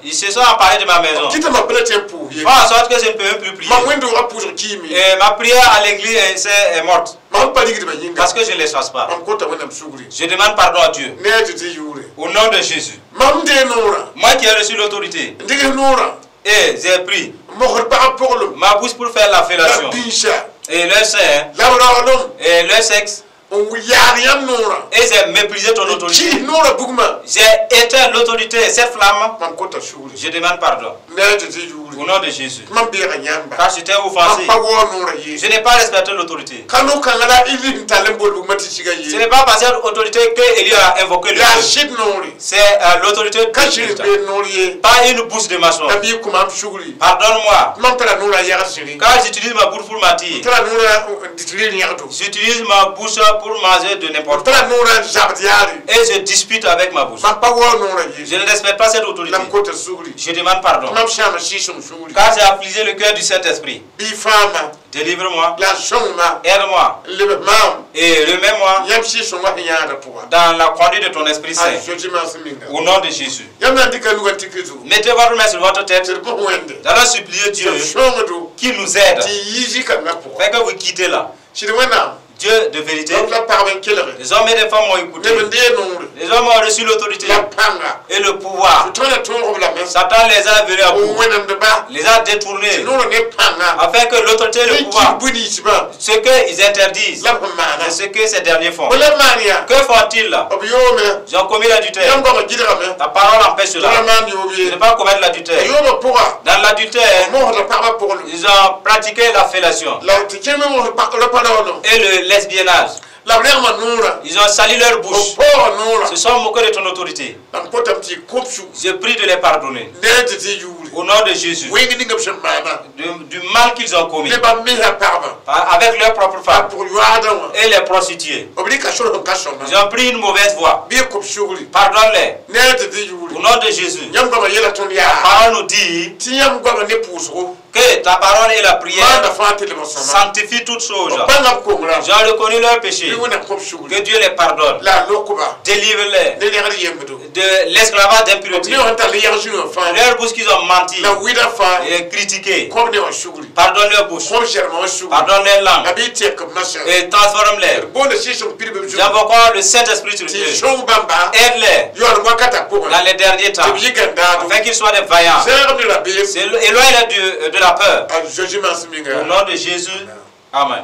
Ils se sont emparés de ma maison. Fais en sorte que je ne peux même plus prier. Et ma prière à l'église est morte. Parce que je ne les chasse pas. Je demande pardon à Dieu. Au nom de Jésus. Moi qui ai reçu l'autorité. Et j'ai pris ma bouche pour faire la fellation. Et leur sein. Et leur sexe. Et j'ai méprisé ton autorité. J'ai éteint l'autorité et cette flamme. Je demande pardon. Au nom de Jésus. Car j'étais offensé. Je n'ai pas respecté l'autorité. Ce n'est pas par cette autorité que Élie a invoqué le feu. C'est l'autorité de. Pas une bouche de maçon. Pardonne-moi. Car j'utilise ma bouche pour mentir. J'utilise ma bouche pour manger de n'importe quoi. Et je dispute avec ma bouche. Je ne respecte pas cette autorité. Je demande pardon. Car j'ai affligé le cœur du Saint-Esprit. Délivre-moi. Aide-moi. Et remets-moi dans la conduite de ton Esprit Saint. Au nom de Jésus. Mettez votre main sur votre tête. Nous allons supplier Dieu qui nous aide. Fait que vous quittez là. Dieu de vérité. Les hommes et les femmes ont écouté. Les hommes ont reçu l'autorité et le pouvoir. Satan les a venus à bout, les a détournés, afin que l'autorité et le pouvoir, ce qu'ils interdisent, c'est ce que ces derniers font. Que font-ils? Ils ont commis l'adultère. Ta parole empêche cela. De ne pas commettre l'adultère. Dans l'adultère, ils ont pratiqué la fellation et le lesbiennage. Ils ont sali leur bouche. Se sont moqués de ton autorité. Je prie de les pardonner. Au nom de Jésus. Du mal qu'ils ont commis. Avec leur propre femme. Et les prostituées. Ils ont pris une mauvaise voie. Pardonne-les. Au nom de Jésus. La parole nous dit que ta parole et la prière sanctifient toutes choses. J'ai reconnu leur péché. Que Dieu les pardonne. Délivre-les de l'esclavage d'impureté. Leur bouche qu'ils ont menti et critiqué. Pardonne leur bouche. Pardonne leur langue. Et transforme-les. J'invoque le Saint-Esprit sur eux. Aide-les dans les derniers temps. Afin qu'ils soient des vaillants. Éloigne-les de la peur. Au nom de Jésus. Amen.